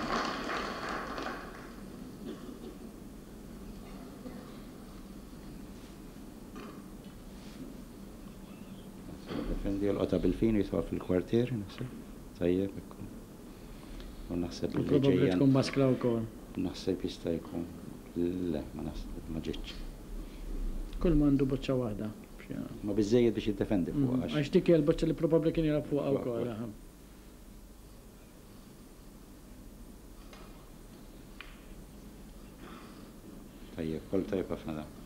Speaker 2: Importanti jolqotha bil-fin u jitfa' fil-kwartier, naħseb. Tajjeb, ekku. U naħseb
Speaker 1: U
Speaker 2: li
Speaker 1: probabbli
Speaker 2: ġejja
Speaker 1: tkun maskla wkoll.
Speaker 2: Naħseb jista' jkun. Le, ma naħseb, ma ġietx.
Speaker 1: Kull ma għandu boċċa waħda.
Speaker 2: Ma biżżejjed biex jiddefendi fuqha għax.
Speaker 1: Għax dik hija l-boċċa li probabbli kien jilgħab fuqha
Speaker 2: Fuqha
Speaker 1: wkoll.
Speaker 2: wkoll.
Speaker 1: Aha.
Speaker 2: Tajjeb, kolb tajjeb ħafna dan.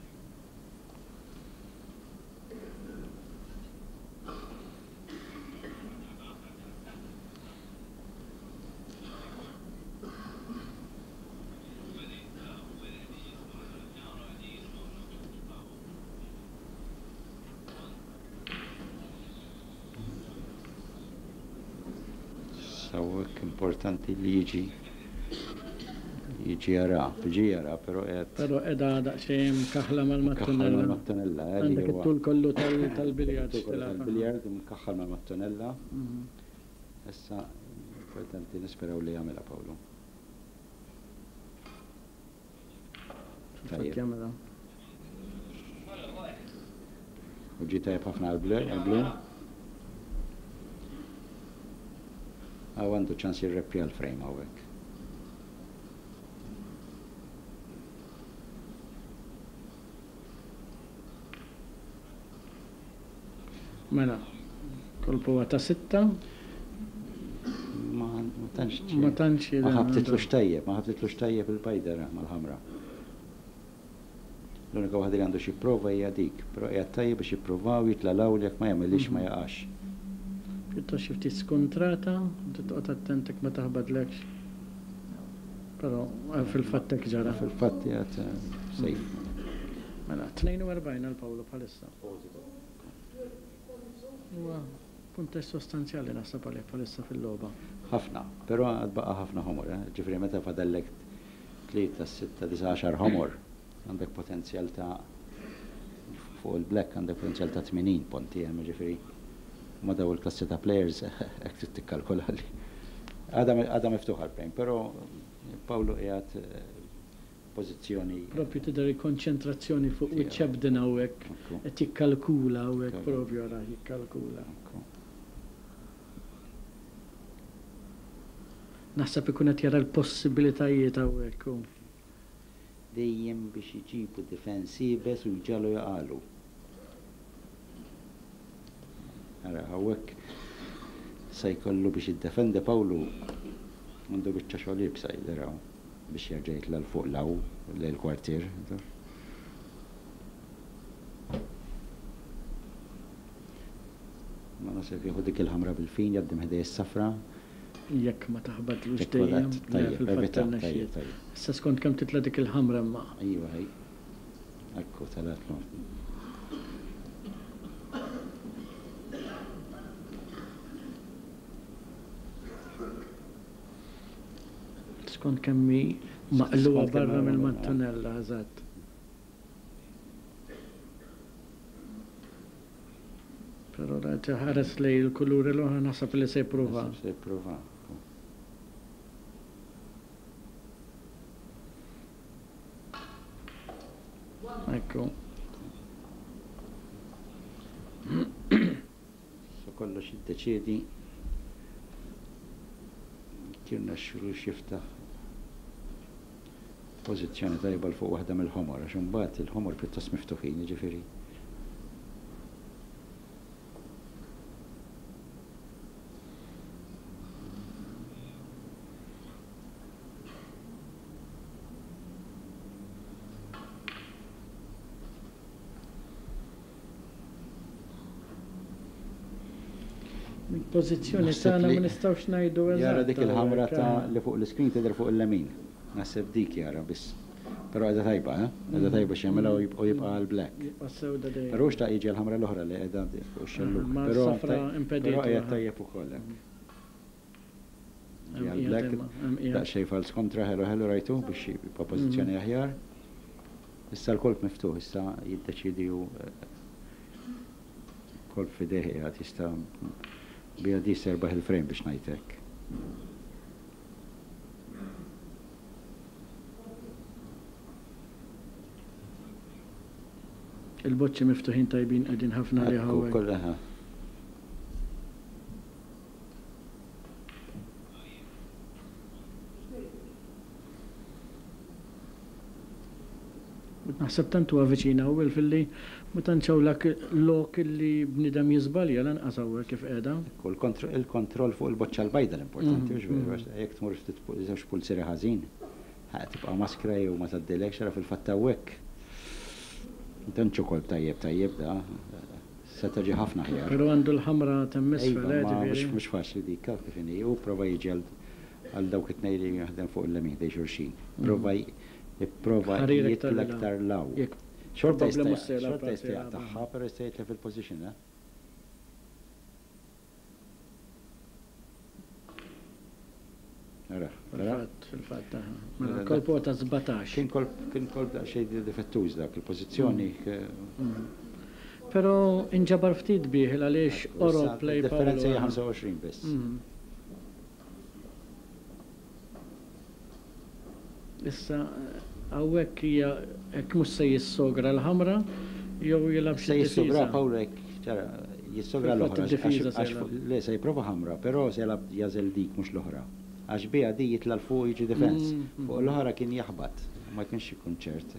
Speaker 2: Sawwek importanti li jiġi jiġi jara, jiġi jara, però qed.
Speaker 1: Però qiegħda daqsxejn mkaħħla
Speaker 2: Mkaħħal
Speaker 1: mal-mattunella.
Speaker 2: mal-mattunella, eh, li
Speaker 1: Għandek
Speaker 2: huwa.
Speaker 1: it-tul kollu tal-biljard
Speaker 2: It-tul kollu
Speaker 1: x'tilgħab.
Speaker 2: tal-biljard imkaħħal mal-mattunella. Issa importanti nisperaw li jagħmilha Pawlu.
Speaker 1: Fil-fatt
Speaker 2: Tajjeb.
Speaker 1: jagħmilha.
Speaker 2: U ġie tajjeb ħafna għall-blu. Hawn għandu ċans jirreppja l-frame hawnhekk.
Speaker 1: Mela, kolp huwa ta' sitta.
Speaker 2: Ma ma tantx
Speaker 1: Ma tantx
Speaker 2: Ma ħabtitlux tajjeb, ma ħabtitlux tajjeb il-bajdera mal-ħamra. L-unika waħda li għandu xi prova hija dik, però qiegħed tajjeb biex jippruvaw jitla' l-hawn jekk ma jagħmilhiex ma jaqax.
Speaker 1: Pjuttost xi ftit skuntrata, trid toqgħod attent jekk ma taħbadlekx. Però fil-fatt hekk ġara.
Speaker 2: Fil-fatt qiegħed safe.
Speaker 1: Mela, 42 għal Pawlu bħalissa. Huwa punteġġ sostanzjali naħseb għalih bħalissa fil-logħba.
Speaker 2: Ħafna, però għad baqa' ħafna ħomor, eh? Ġifieri meta fadallek 3, 6, 9, 10 ħomor, għandek potenzjal ta' fuq il-black għandek potenzjal ta' 80 punti hemm ġifieri. Ma daw il-klassi ta' players hekk trid tikkalkola li. Għadha miftuħa l-frame, però Pawlu qiegħed pożizzjoni.
Speaker 1: Propju tidher il-konċentrazzjoni fuq wiċċ Ebden hawnhekk qed jikkalkula hawnhekk propju ara jikkalkula. Naħseb ikun qed jara l-possibilitajiet hawnhekk hu.
Speaker 2: Dejjem biex iġibu difens iebes u jġalu jaqalu. Ara hawnhekk se jkollu biex jiddefendi Pawlu għandu biċċa xogħol iebsa jidher hawn biex jerġa' jitla' 'l fuq 'l hawn lejn il-kwartier. Ma naħseb jieħu dik il-ħamra bil-fin jgħaddi minn ħdej is-safra.
Speaker 1: Jekk ma taħbatlux
Speaker 2: Jekk ma
Speaker 1: dejjem,
Speaker 2: tat-
Speaker 1: le,
Speaker 2: tajjeb,
Speaker 1: fil-fatt
Speaker 2: evita,
Speaker 1: irnexxiet.
Speaker 2: tajjeb, tajjeb.
Speaker 1: Issa skont kemm titla' dik il-ħamra imma.
Speaker 2: Iva, ej. Ekku, talatlu.
Speaker 1: Skont kemm hi maqluha
Speaker 2: Skont kemm
Speaker 1: barra
Speaker 2: hi
Speaker 1: mill-mattunella, eżatt. Però la ħares lej il-kuluri l-oħra naħseb li se jipprova.
Speaker 2: Naħseb se jipprova.
Speaker 1: Ekku.
Speaker 2: So kollox jiddeċiedi kien nexxielu jiftaħ pożizzjoni tajba l fuq waħda mill-ħomor, għax imbagħad il-ħomor pjuttost miftuħin, jiġifieri.
Speaker 1: Pożizzjoni
Speaker 2: Naħseb
Speaker 1: tagħna
Speaker 2: li
Speaker 1: ma nistgħux ngħidu
Speaker 2: Jara
Speaker 1: eżatt
Speaker 2: dik il-ħamra
Speaker 1: hawnhekk,
Speaker 2: ta'
Speaker 1: eh.
Speaker 2: li fuq l-iskrin tidher fuq il-lemin. Naħseb dik jara biss. Però qiegħda tajba, eh? Qiegħda tajba x'jagħmilha u jibqa' għal black.
Speaker 1: Jibqa' sewda dejjem.
Speaker 2: Però xtaq jiġi l-ħamra l-oħra li qiegħda fuq ix-xellug.
Speaker 1: Ma
Speaker 2: Però
Speaker 1: s-safra impeditu,
Speaker 2: Però qiegħed
Speaker 1: eh.
Speaker 2: tajjeb ukoll hekk.
Speaker 1: Hemm
Speaker 2: Ġi għal
Speaker 1: qiegħed
Speaker 2: black,
Speaker 1: imma, hemm qiegħed.
Speaker 2: daqsxejn fals kontra ħelu ħelu rajtu biex jibqa' pożizzjoni aħjar. Issa l-kolp miftuħ, issa jiddeċidi hu kolp f'idejh qiegħed jista' bija di serbaħ il-frame biex ngħidlek.
Speaker 1: Il-boċċi miftuħin tajbin qegħdin ħafna li
Speaker 2: Ekku,
Speaker 1: hawnhekk.
Speaker 2: kollha.
Speaker 1: Naħseb tant huwa viċin hawn filli ma tantx hawn lak lok li bniedem jiżbalja lanqas hawnhekk kif qiegħda.
Speaker 2: Ekku, il-kontroll fuq il-boċċa l-bajda l-importanti, hux veru? Għax jekk tmur ftit żewġ pulzieri ħażin, tibqa' maskra jew ma tgħaddilekx, ara fil-fatt hawnhekk. Ma tantx hu kolp tajjeb tajjeb da, seta' ġie ħafna aħjar.
Speaker 1: Però għandu l-ħamra t'hemm isfel,
Speaker 2: eh, ġifieri. Iva, ma mhux faċli dik, kif inhi, hu prova jiġi għal dawk it-tnejn li jaħdem fuq il-lemin ħdejn xulxin. Prova Ipprova jitla' iktar 'l hawn. Xorta jista' xorta jista' jaqtagħha, però jista' jitlef il-position, eh. Ara,
Speaker 1: ara. Fil-fatt, fil-fatt, aha. Mela kolp huwa ta' 17.
Speaker 2: Kien kolp, kien kolp daqsxejn difettuż dak, il-pożizzjoni.
Speaker 1: Però inġabar ftit bih il għaliex qorob lejn Paolo.
Speaker 2: Id-differenza hija 25 biss.
Speaker 1: Issa hawnhekk hija hekk mhux se jissogra l-ħamra jew jilgħab xi
Speaker 2: Se jissogra Paolo hekk ċara jissogra l-oħra għax le se jipprova ħamra però se jilgħab jagħżel dik mhux l-oħra. Għax biha di jitla' 'l fuq u jiġi defense. Fuq l-oħra kien jaħbat ma kienx ikun ċert.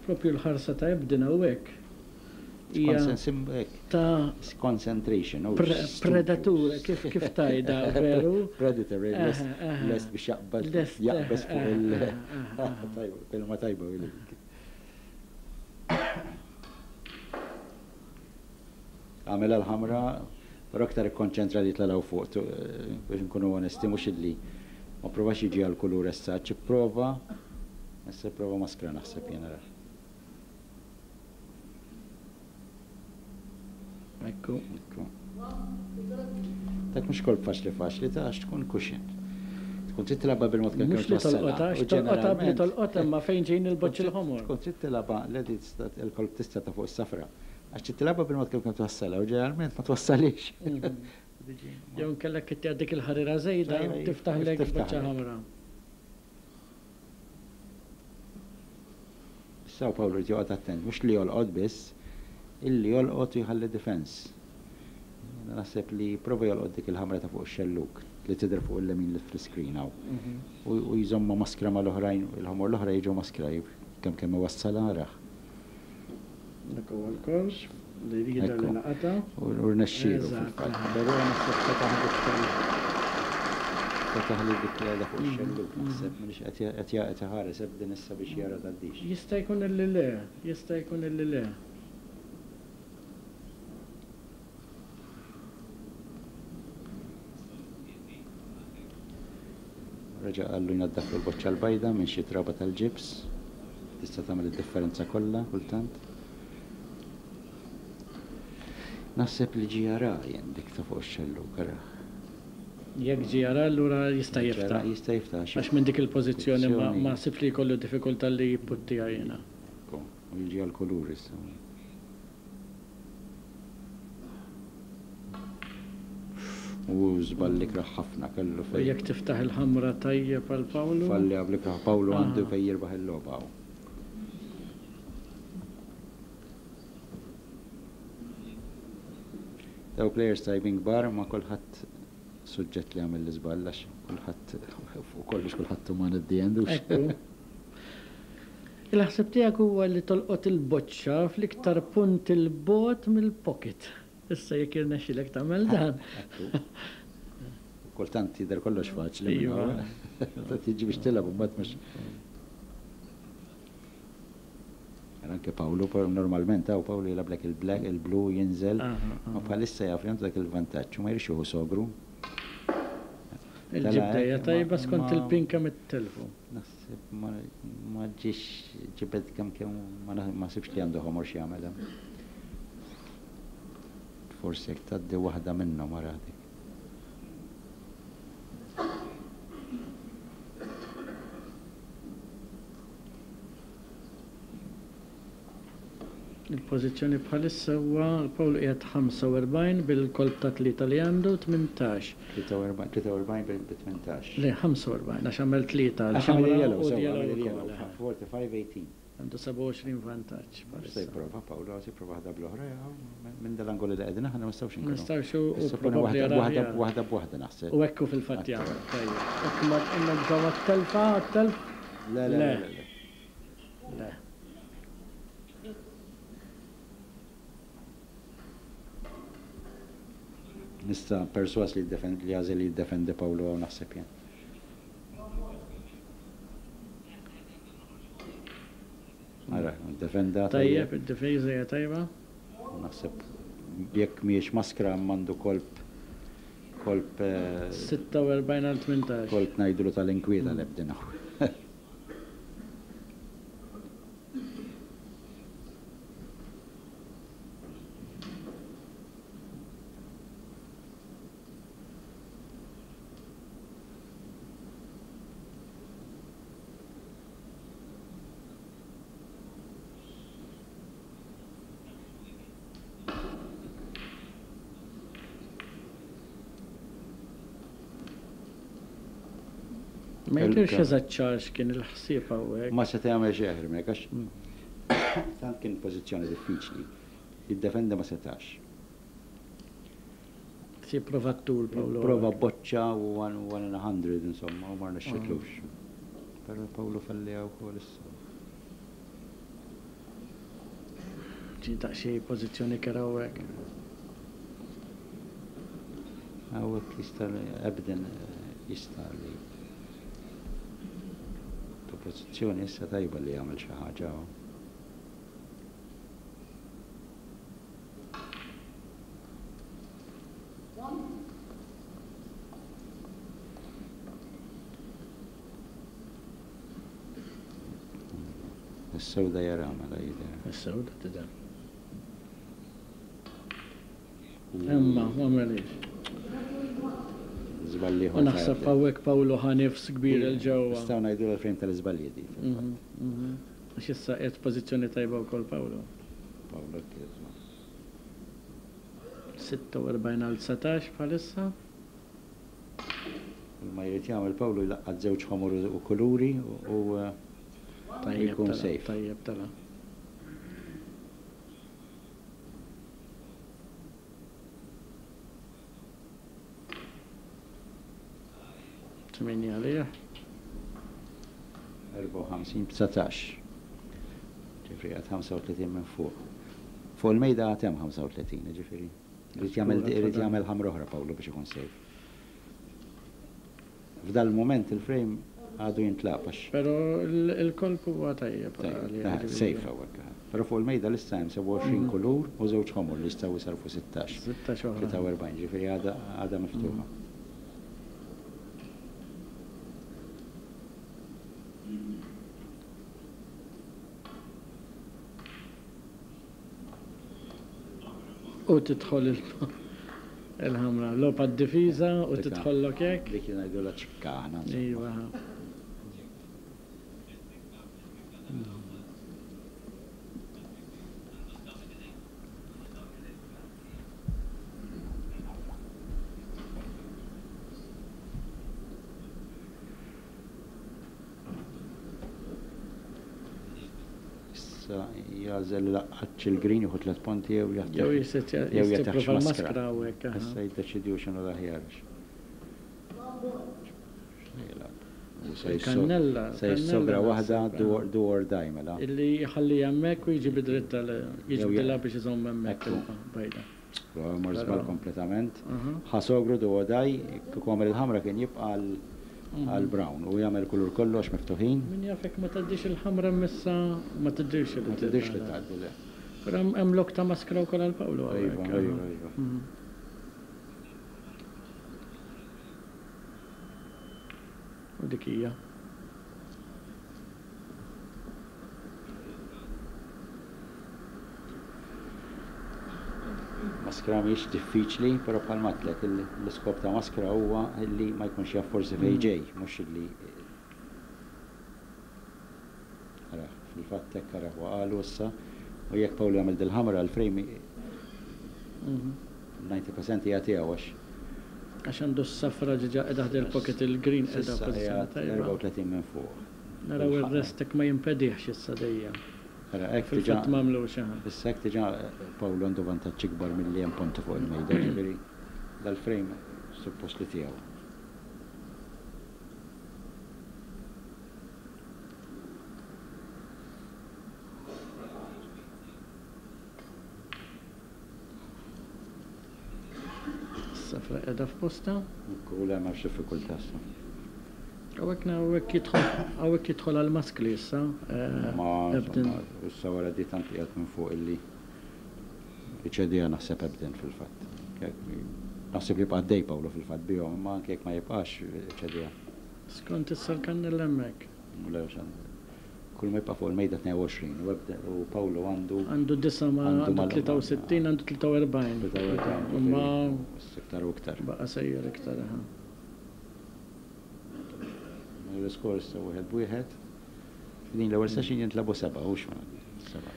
Speaker 1: Propju l-ħarsa ta' Ebden hawnhekk hija
Speaker 2: ta' concentration,
Speaker 1: predatur, kif kif tajda veru?
Speaker 2: Predator, lest biex jaqbad, jaqbeż fuq il- Kelma tajba. Għamilha l-ħamra, però iktar ikkonċentra li jitla' 'l fuq, biex inkunu onesti, mhux illi ma pprovax jiġi għall-kulur essaċ, ipprova, issa jipprova maskra naħseb jien ara.
Speaker 1: Ekku.
Speaker 2: Ekku. Dak mhux kolp faċli faċli ta' għax tkun cushion. Tkun trid tilgħabha bil-mod kemm
Speaker 1: Mhux li tolqotha, għax tolqotha bli tolqotha imma fejn ġejjin il-boċċi l-ħomor.
Speaker 2: Tkun trid tilgħabha, le il-kolp tista' ta' fuq is-safra. Għax trid tilgħabha bil-mod kemm kemm twassalha u ġeneralment ma twassalhiex.
Speaker 1: Jew inkella jekk dik il-ħarira żejda tiftaħlek boċċa ħamra.
Speaker 2: Issa Paolo jrid joqgħod attent, mhux li jolqot biss, illi jolqot u jħalli defense. Jiena naħseb li jipprova jolqot dik il-ħamra ta' fuq ix-xellug li tidher fuq il-lemin li fl-iscreen hawn. U jżommha maskra mal-oħrajn, il-ħomor l-oħra jiġu maskra kemm kemm iwassalha arah.
Speaker 1: Dak huwa l-kors li jidher li laqatha.
Speaker 2: U rnexxielu fil-fatt. Però naħseb fetaħ dik fetaħ li dik li qiegħda fuq ix-xellug naħseb m'iniex qed qed iħares Ebden issa biex jara tgħaddix.
Speaker 1: Jista' jkun illi le, jista' jkun illi le.
Speaker 2: Reġa' qallu jnaddaflu l-boċċa l-bajda minn xi traba tal-ġibs. Tista' tagħmel id-differenza kollha kultant. Naħseb li ġie jara jien dik ta' fuq ix-xellug, arah.
Speaker 1: Jekk ġie jara allura jista' jiftaħ.
Speaker 2: Jista' jiftaħ
Speaker 1: għax. Għax minn dik il-pożizzjoni ma ħsibx li jkollu diffikultà li jipputtija jiena.
Speaker 2: Ekku, u jiġi għall-kulur issa. U żball ikrah ħafna kellu
Speaker 1: fejn. U jekk tiftaħ il-ħamra tajjeb għal Pawlu.
Speaker 2: Falli għabl ikrah Pawlu għandu fejn jirbaħ il-logħba hawn. Daw players tajbin kbar ma kulħadd suġġett li jagħmel l-iżball għax kulħadd fuq kollox kulħadd uman at the end hux.
Speaker 1: Ekku. Il-ħsieb tiegħek huwa li tolqot il-boċċa fl-iktar punt 'il bogħod mill-pocket. Issa jekk jirnexxilek tagħmel dan.
Speaker 2: Ekku. Kultant jidher kollox faċli minn hawn. Meta tiġi biex tilgħab imbagħad mhux. Anke Pawlu, normalment hawn Pawlu jilgħablek il-black, il-blu jinżel, ma bħalissa jaf li għandu dak il-vantaġġ u ma jridx jieħu sogru.
Speaker 1: Il-ġibda hija tajba skont il-pin kemm ittellfu.
Speaker 2: Naħseb ma ġiex ġibed kemm kemm ma naħsibx li għandu ħomor x'jagħmel hemm. Forsi jekk tgħaddi waħda minnhom ara dik.
Speaker 1: Il-pożizzjoni bħalissa huwa Paul qiegħed 45 bil-kolp ta' tlieta li għandu 18.
Speaker 2: 43 bil 18.
Speaker 1: Le 45 għax għamel tlieta
Speaker 2: l-ħamra u l-yellow ukoll. 45 18.
Speaker 1: Għandu 27 vantaġġ
Speaker 2: Se
Speaker 1: bħalissa.
Speaker 2: jipprova Paolo, se jipprova waħda bl-oħra, jew minn dal-angoli li qegħdin aħna ma nistgħux inkunu.
Speaker 1: Nistgħux u
Speaker 2: Issa
Speaker 1: probabbli
Speaker 2: waħda
Speaker 1: jara
Speaker 2: waħda
Speaker 1: aħjar.
Speaker 2: waħda b'waħda naħseb.
Speaker 1: U ekku fil-fatt jagħmel. Tajjeb. Hekk ma nibżgħu għat-telfa, għat-telf?
Speaker 2: Le, le,
Speaker 1: Le.
Speaker 2: le, le.
Speaker 1: Le.
Speaker 2: Nista' perswas li jiddefend li għażel li jiddefendi Paolo hawn naħseb jien. Ara, defenda
Speaker 1: Tajjeb, id-difiża hija tajba.
Speaker 2: Naħseb jekk mhijiex maskra m'għandu kolp kolp
Speaker 1: 46 għal 18.
Speaker 2: kolp ngħidulu tal-inkwieta l-ebdina.
Speaker 1: Ma jidhirx eżatt ċar x'kien il-ħsieb hawnhekk.
Speaker 2: Ma seta' jagħmel xejn aħjar minn hekk għax tant kien pożizzjoni diffiċli. Jiddefendi ma setax.
Speaker 1: Se jipprova t-tul Paolo.
Speaker 2: Prova boċċa u one, one in 100 insomma u ma rnexxitlux. Però Paolo falliha wkoll issa.
Speaker 1: Ġi daqsxejn pożizzjoni kerha hawnhekk.
Speaker 2: Hawnhekk jista' Ebden jista' li tu pożizzjoni issa tajba li jagħmel xi ħaġa hawn. Is-sewda jara mela jidher.
Speaker 1: Is-sewda tidher. Imma ma għamilix.
Speaker 2: Żball ieħor
Speaker 1: U naħseb hawnhekk Paolo ħa nifs kbir 'il ġewwa.
Speaker 2: Nistgħu ngħidu l-frame tal-iżbalji di fil-fatt.
Speaker 1: Għax issa qiegħed f'pożizzjoni tajba wkoll Paolo.
Speaker 2: Paolo kieżma.
Speaker 1: 46 għal 19 bħalissa.
Speaker 2: Ma jrid jagħmel Paolo jlaqqat żewġ ħomor u kuluri u
Speaker 1: Tajjeb
Speaker 2: jkun
Speaker 1: tela,
Speaker 2: safe.
Speaker 1: tajjeb tela. Tminja għalih.
Speaker 2: 54 19. Ġifieri għad 35 minn fuq. Fuq il-mejda għad hemm 35, ġifieri. Irid jagħmel irid jagħmel ħamra oħra Paolo biex ikun safe. F'dal moment il-frame għadu jintlaq għax
Speaker 1: Però il-kolp huwa tajjeb għalih, ġifieri.
Speaker 2: safe hawnhekk. Però fuq il-mejda lissa hemm 27 kulur u żewġ ħomor li jistgħu jsarfu 16.
Speaker 1: 16 oħra.
Speaker 2: 43, ġifieri għadha għadha miftuħa.
Speaker 1: U tidħol il-ħamra. Logħba d-difiża u
Speaker 2: Dik-
Speaker 1: tidħollok hekk.
Speaker 2: Dik li ngħidu la ċikka aħna. insomma.
Speaker 1: Iva.
Speaker 2: Issa jagħżel laqqatx il-green jieħu tliet punti jew jaħtef.
Speaker 1: Jew jisset
Speaker 2: jew jagħtih
Speaker 1: jipprova
Speaker 2: maskra.
Speaker 1: l-maskra hawnhekk. aha.
Speaker 2: Issa jiddeċidiju x'inhu l-aħjar. X'jilgħab? U se jisso-
Speaker 1: Il-kannella,
Speaker 2: Se jissogra
Speaker 1: kannella
Speaker 2: waħda
Speaker 1: naħseb,
Speaker 2: do or- do or die mela.
Speaker 1: Illi jħalli hemmhekk u jiġi bidritta
Speaker 2: Jew
Speaker 1: jiġbdilha biex iżomm hemmhekk
Speaker 2: Ekku.
Speaker 1: il-bajda.
Speaker 2: Mor żball kompletament.
Speaker 1: Aha.
Speaker 2: Ħa sogru do or die, kieku għamel il-ħamra kien jibqa' għal brown u jagħmel kulur kollox miftuħin.
Speaker 1: Min jafek ma tgħaddix il-ħamra missa ma tiddirx li
Speaker 2: Ma tidhirx li tgħaddi le.
Speaker 1: Però hemm lok ta' maskra wkoll għal Paolo
Speaker 2: Iva,
Speaker 1: hawnhekk.
Speaker 2: iva,
Speaker 1: aha.
Speaker 2: iva.
Speaker 1: U dik hija.
Speaker 2: Maskra mhijiex diffiċli, però bħalma għedtlek l-iskop ta' maskra huwa li ma jkunx jaf forsi fejn ġej, mhux illi Ara, fil-fatt hekk ara waqalu issa u jekk Paolo jagħmel dil-ħamra l-frame 90% hija tiegħu għax
Speaker 1: Għax għandu s-safra ġiġa qiegħda ħdejn il-pocket il-green qiegħda
Speaker 2: S'issa
Speaker 1: pożizzjoni
Speaker 2: qiegħed
Speaker 1: tajba.
Speaker 2: 34 minn fuq.
Speaker 1: Naraw ir-rest hekk ma jimpedihx issa dejjem.
Speaker 2: Ara, hekk diġà.
Speaker 1: Fil-fatt m'għamlux, aha.
Speaker 2: Issa hekk diġà Pawlu għandu vantaġġ ikbar milli hemm ponti fuq il-mejda, jiġifieri dal-frame suppost li tiegħu.
Speaker 1: Is-safra qiegħda f'postha.
Speaker 2: Ekku, le m'hemmx diffikultà issa.
Speaker 1: Hawnhekk hawnhekk jidħol hawnhekk jidħol għall-maskli issa.
Speaker 2: Ma insomma, issa wara di tant qiegħed minn fuq illi iċediha naħseb Ebden fil-fatt. Naħseb jibqa' għaddej Pawlu fil-fatt bihom, imma anke jekk ma jibqax iċediha.
Speaker 1: Skont issa l-kannella hemmhekk.
Speaker 2: Le, Kull ma jibqa' fuq il-mejda 22 u ebda u Paolo għandu.
Speaker 1: Għandu disa' ma għandu 63 għandu 43.
Speaker 2: 43
Speaker 1: Imma.
Speaker 2: Iktar u iktar.
Speaker 1: Baqa' sejjer iktar aha.
Speaker 2: L-iskor issa wieħed b'wieħed. F'din l-ewwel session jintlagħbu sebgħa hux sebgħa.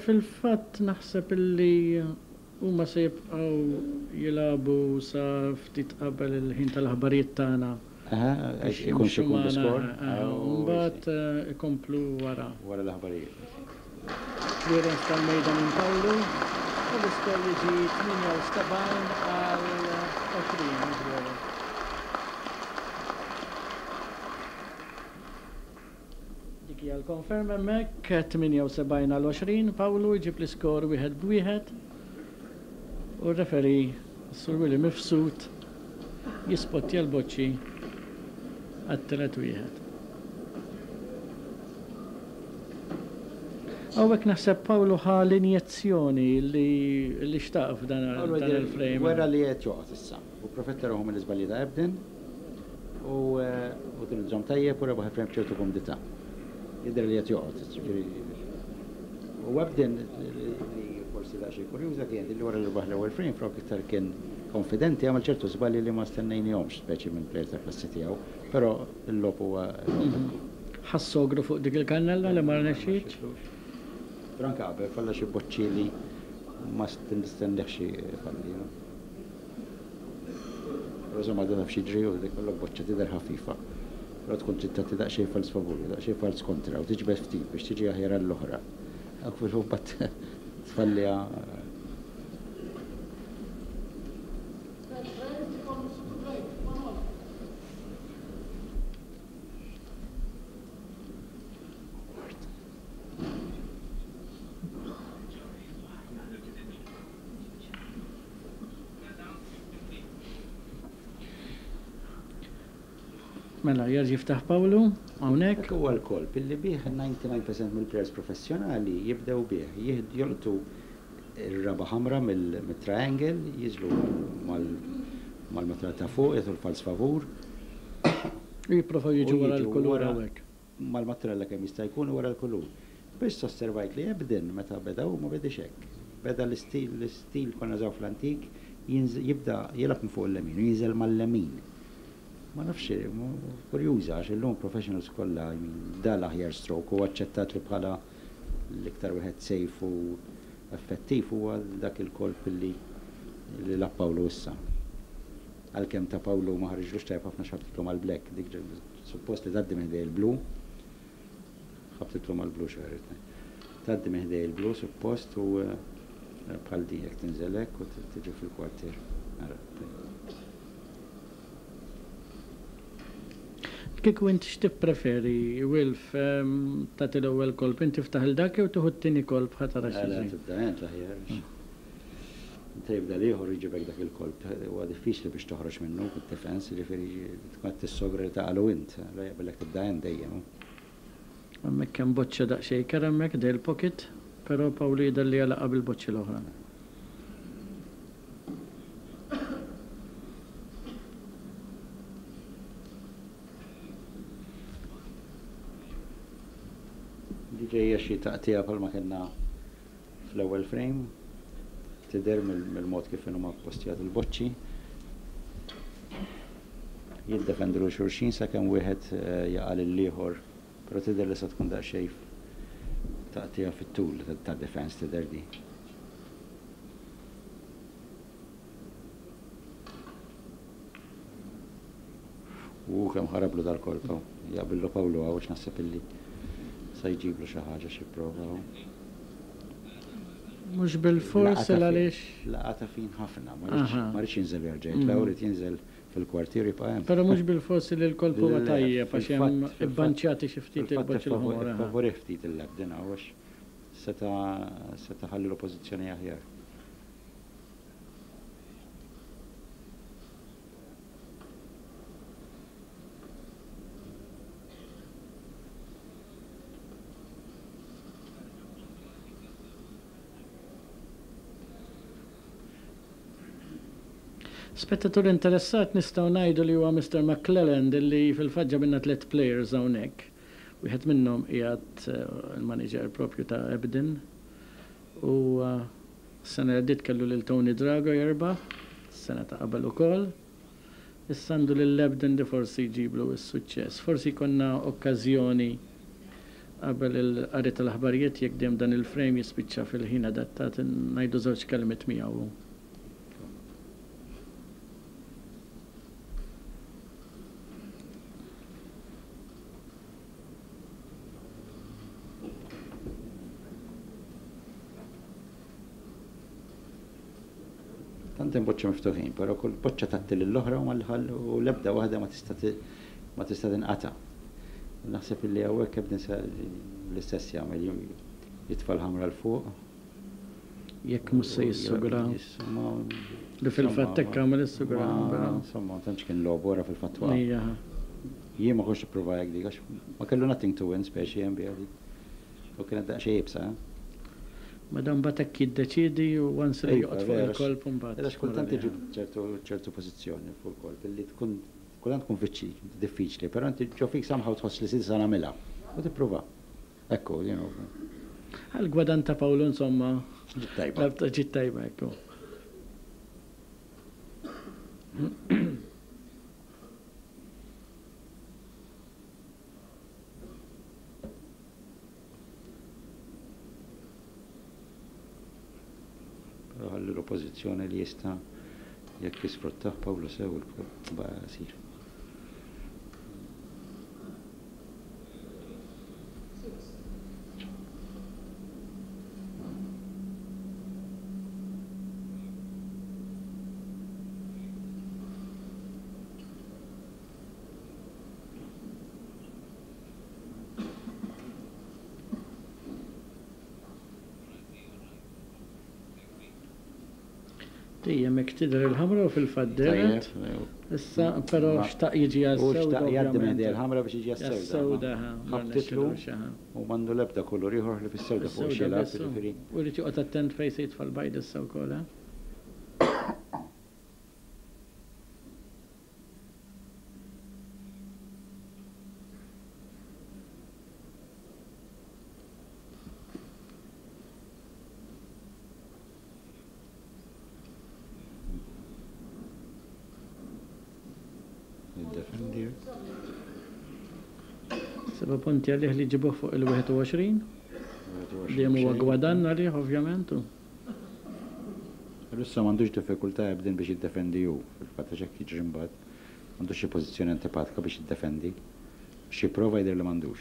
Speaker 1: Fil-fatt naħseb illi huma se jibqgħu jilagħbu sa ftit qabel il-ħin tal-aħbarijiet tagħna.
Speaker 2: Aha,
Speaker 1: Biex
Speaker 2: ikun
Speaker 1: jimxu
Speaker 2: x'ikun
Speaker 1: magħna,
Speaker 2: l-iskor.
Speaker 1: aha, u mbagħad ikomplu wara.
Speaker 2: Wara l-aħbarijiet.
Speaker 1: Clearance tal-mejda minn Pawlu u l-iskor jiġi 78 għal 20 mhux veru? Dik hija l-konferma hemmhekk, 78 għal 20, Pawlu jġib l-iskor wieħed b'wieħed u r-referee Sur Willy Mifsud jispottja l-boċċi għat-tielet wieħed. Hawnhekk naħseb Pawlu ħa l-injezzjoni li li xtaq f'dan il-frame.
Speaker 2: Wera li qed joqgħod issa u pprofetta ruħu mill-iżbalji ta' Ebden. U utilizzhom tajjeb u rebaħ il-frame b'ċertu kumdità. Jidher li qed joqgħod, jiġifieri. U Ebden li forsi daqsxejn kurjuża kienet li wara li rebaħ l-ewwel frame flok iktar kien konfidenti għamel ċertu żbalji li ma stennejnihomx speċi minn plejer tal-klassi tiegħu, però l-logħob huwa logħob hekk.
Speaker 1: Ħass sogru fuq dik il-kannella li ma rnexxietx.
Speaker 2: Però anke qabel falla xi boċċi li ma nistennihx ifalli. Però insomma da taf x'jiġri u ikollok boċċa tidher ħafifa. Però tkun trid tagħti daqsxejn falz favur u daqsxejn falz kontra u tiġbed ftit biex tiġi aħjar għall-oħra. U mbagħad tfalliha.
Speaker 1: Mela, jerġa' jiftaħ Pawlu hawnhekk.
Speaker 2: Dak huwa l-kolp illi bih 99% mill-players professjonali jibdew bih. Jolqtu r-raba' ħamra mit-triangle, jiżlu mal-matura ta' fuq, jagħtu l-falz favur.
Speaker 1: U jipprovaw jiġu wara l-kulur hawnhekk.
Speaker 2: Mal-matrella kemm jista' jkun u wara l-kulur. Biss osservajt li Ebden meta beda hu ma bediex hekk. Beda l-istil l-istil konna nużaw fl-antik jibda jilgħab minn fuq il-lemin u jinżel mal-lemin. Ma nafx kurjuża għax illum professionals kollha I mean da l-aħjar stroke u aċċettat li bħala l-iktar wieħed safe u effettiv huwa dak il-kolp li li lagħab Pawlu issa. Għalkemm ta' Pawlu ma ħariġlux tajjeb ħafna x'ħabtitlu mal-black dik Suppost li tgħaddi minn ħdej il-blu. Ħabtitlu mal-blu xi ħaġa. Tgħaddi minn ħdej il-blu suppost u bħal din jekk tinżel hekk u tiġi fil-kwartier. Ara,
Speaker 1: Kieku int x'tippreferi, Wilf, tagħti l-ewwel kolp, int tiftaħ 'il dak jew tieħu t-tieni kolp ħa tara x'jiġri?
Speaker 2: Le, tibda int l-aħjar. Meta jibda l-ieħor jġibek dak il-kolp, huwa diffiċli biex toħroġ minnu bid-defense, jiġifieri tkun qed tissogra li taqalu int, allura jaqbillek tibda int dejjem.
Speaker 1: Hemmhekk hemm boċċa daqsxejn kerha hemmhekk ħdejn il-pocket, però Pawlu jidher li għalaqha bil-boċċi l-oħra.
Speaker 2: Di ġejja xi taqtigħa bħalma kellna Fl-ewwel frame, tidher mill-mod kif inhuma ppostjati l-boċċi. Jiddefendu lil xulxin sakemm wieħed jaqa' lill-ieħor, però tidher li se tkun daqsxejn taqtigħa fit-tul ta' defense tidher di. U kemm ħarablu dal-kolp hawn. Jaqbillu Pawlu hawn għax naħseb illi sa jġiblu xi ħaġa xi prova hawn.
Speaker 1: Mhux bilfors il għaliex.
Speaker 2: Laqatha fin ħafna, ma riedx ma riedx jinżel u jerġa' jitla' hu ried jinżel fil-kwartier u jibqa' hemm.
Speaker 1: Però mhux bilfors li l-kolp huwa tajjeb għax hemm ibbanċjati xi ftit il-boċċi l-ħomor.
Speaker 2: Fil-fatt iffavorih ftit il-Lebden hawn għax seta' seta' ħallilu pożizzjoni aħjar.
Speaker 1: Spettatur interessat nistgħu ngħidu li huwa Mister McClelland li fil-fatt ġabilna tlett players hawnhekk. Wieħed minnhom qiegħed il-manager propju ta' Ebden u Is-sena li għaddiet kellu lil Tony Drago jerbaħ, is-sena ta' qabel ukoll. Issa għandu lil Ebden li forsi jġiblu s-suċċess. Forsi jkollna okkażjoni qabel il-qari tal-aħbarijiet jekk dejjem dan il-frame jispiċċa fil-ħin adattat ngħidu żewġ kelmiet miegħu.
Speaker 2: Tant hemm boċċa miftuħin, però kull boċċa tgħatti lill-oħra u l-ebda waħda ma tista' ma tista' tinqata'. Naħseb illi hawnhekk Ebden se l-istess jagħmel, jitfa' l-ħamra 'l fuq.
Speaker 1: Jekk mhux se jissugra. Li fil-fatt hekk għamel is-sugra.
Speaker 2: Insomma, ma tantx kien logħob wara fil-fatt waqa'. Jien ma kontx nipprova hekk dik għax ma kellu nothing to win speċi hemm biha dik. U kienet daqsxejn iebsa, eh?
Speaker 1: Madam mbagħad hekk jiddeċiedi u once li joqgħod fuq il-kolp imbagħad.
Speaker 2: Għax kultant tiġi ċertu ċertu pożizzjoni fuq il-kolp illi tkun kultant tkun diffiċli, però inti ġo fik somehow tħoss li s'issa nagħmilha u tipprova. Ekku, you know.
Speaker 1: Għall-gwadann ta' Pawlu insomma.
Speaker 2: Ġiet tajba.
Speaker 1: Ġiet tajba, ekku.
Speaker 2: Però ħalli l-oppożizzjoni li jista' jekk jisfruttah Pawlu sew il-qasir.
Speaker 1: Dejjem hekk tidher il-ħamra u fil-fatt dehret. Issa però xtaq jiġi għas-sewda.
Speaker 2: Hu xtaq jgħaddi minn ħdejha l-ħamra biex jiġi għas-sewda. Ħabtitlu u m'għandu l-ebda kulur ieħor ħlief is-sewda fuq xi jilgħab, jiġifieri.
Speaker 1: U jrid joqgħod attent fejn se jitfa' l-bajd issa wkoll, eh?
Speaker 2: Jiddefendi.
Speaker 1: Seba' punti għalih li ġibuh fuq il-21. Dejjem huwa gwadann għalih ovvjament.
Speaker 2: Issa m'għandux diffikultà ebdin biex jiddefendi hu, fil-fatt għax hekk jiġri mbagħad. M'għandux xi pożizzjoni antipatika biex jiddefendi. Xi prova jidher li m'għandux.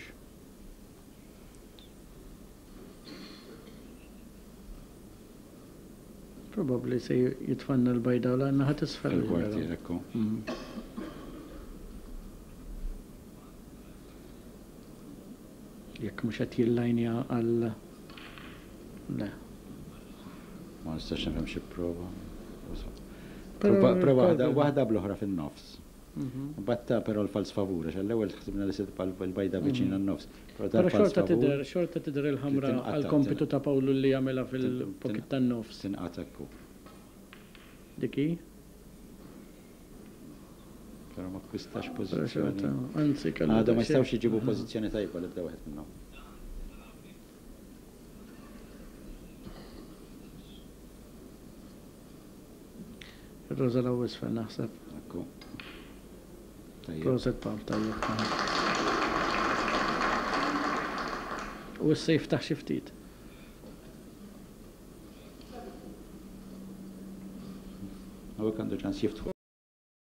Speaker 1: Probabbli se jitfanna l-bajda u l-naħa t'isfel.
Speaker 2: Il-kwartier, ekku.
Speaker 1: Jekk mhux qed jillajnja għal le.
Speaker 2: Ma nistax nifhem xi prova. Prova waħda waħda bl-oħra fin-nofs. Mbagħad ta però l-fals favur għax għall-ewwel ħsibna li se tibqa' l-bajda viċin għan-nofs.
Speaker 1: Però xorta tidher xorta tidher il-ħamra għall-kompitu ta' Pawlu li jagħmilha fil-pocket tan-nofs.
Speaker 2: Tinqata' ekku.
Speaker 1: Dik hi.
Speaker 2: Però ma akkwistax pożizzjoni.
Speaker 1: Anzi kellu.
Speaker 2: Għadhom ma jistgħux iġibu pożizzjoni tajba l-ebda wieħed minnhom.
Speaker 1: Ir-roża 'l hawn isfel naħseb.
Speaker 2: Ekku.
Speaker 1: Tajjeb. Proset Pawl, tajjeb. U issa jiftaħ xi ftit.
Speaker 2: Hawnhekk għandu ċans jiftħu.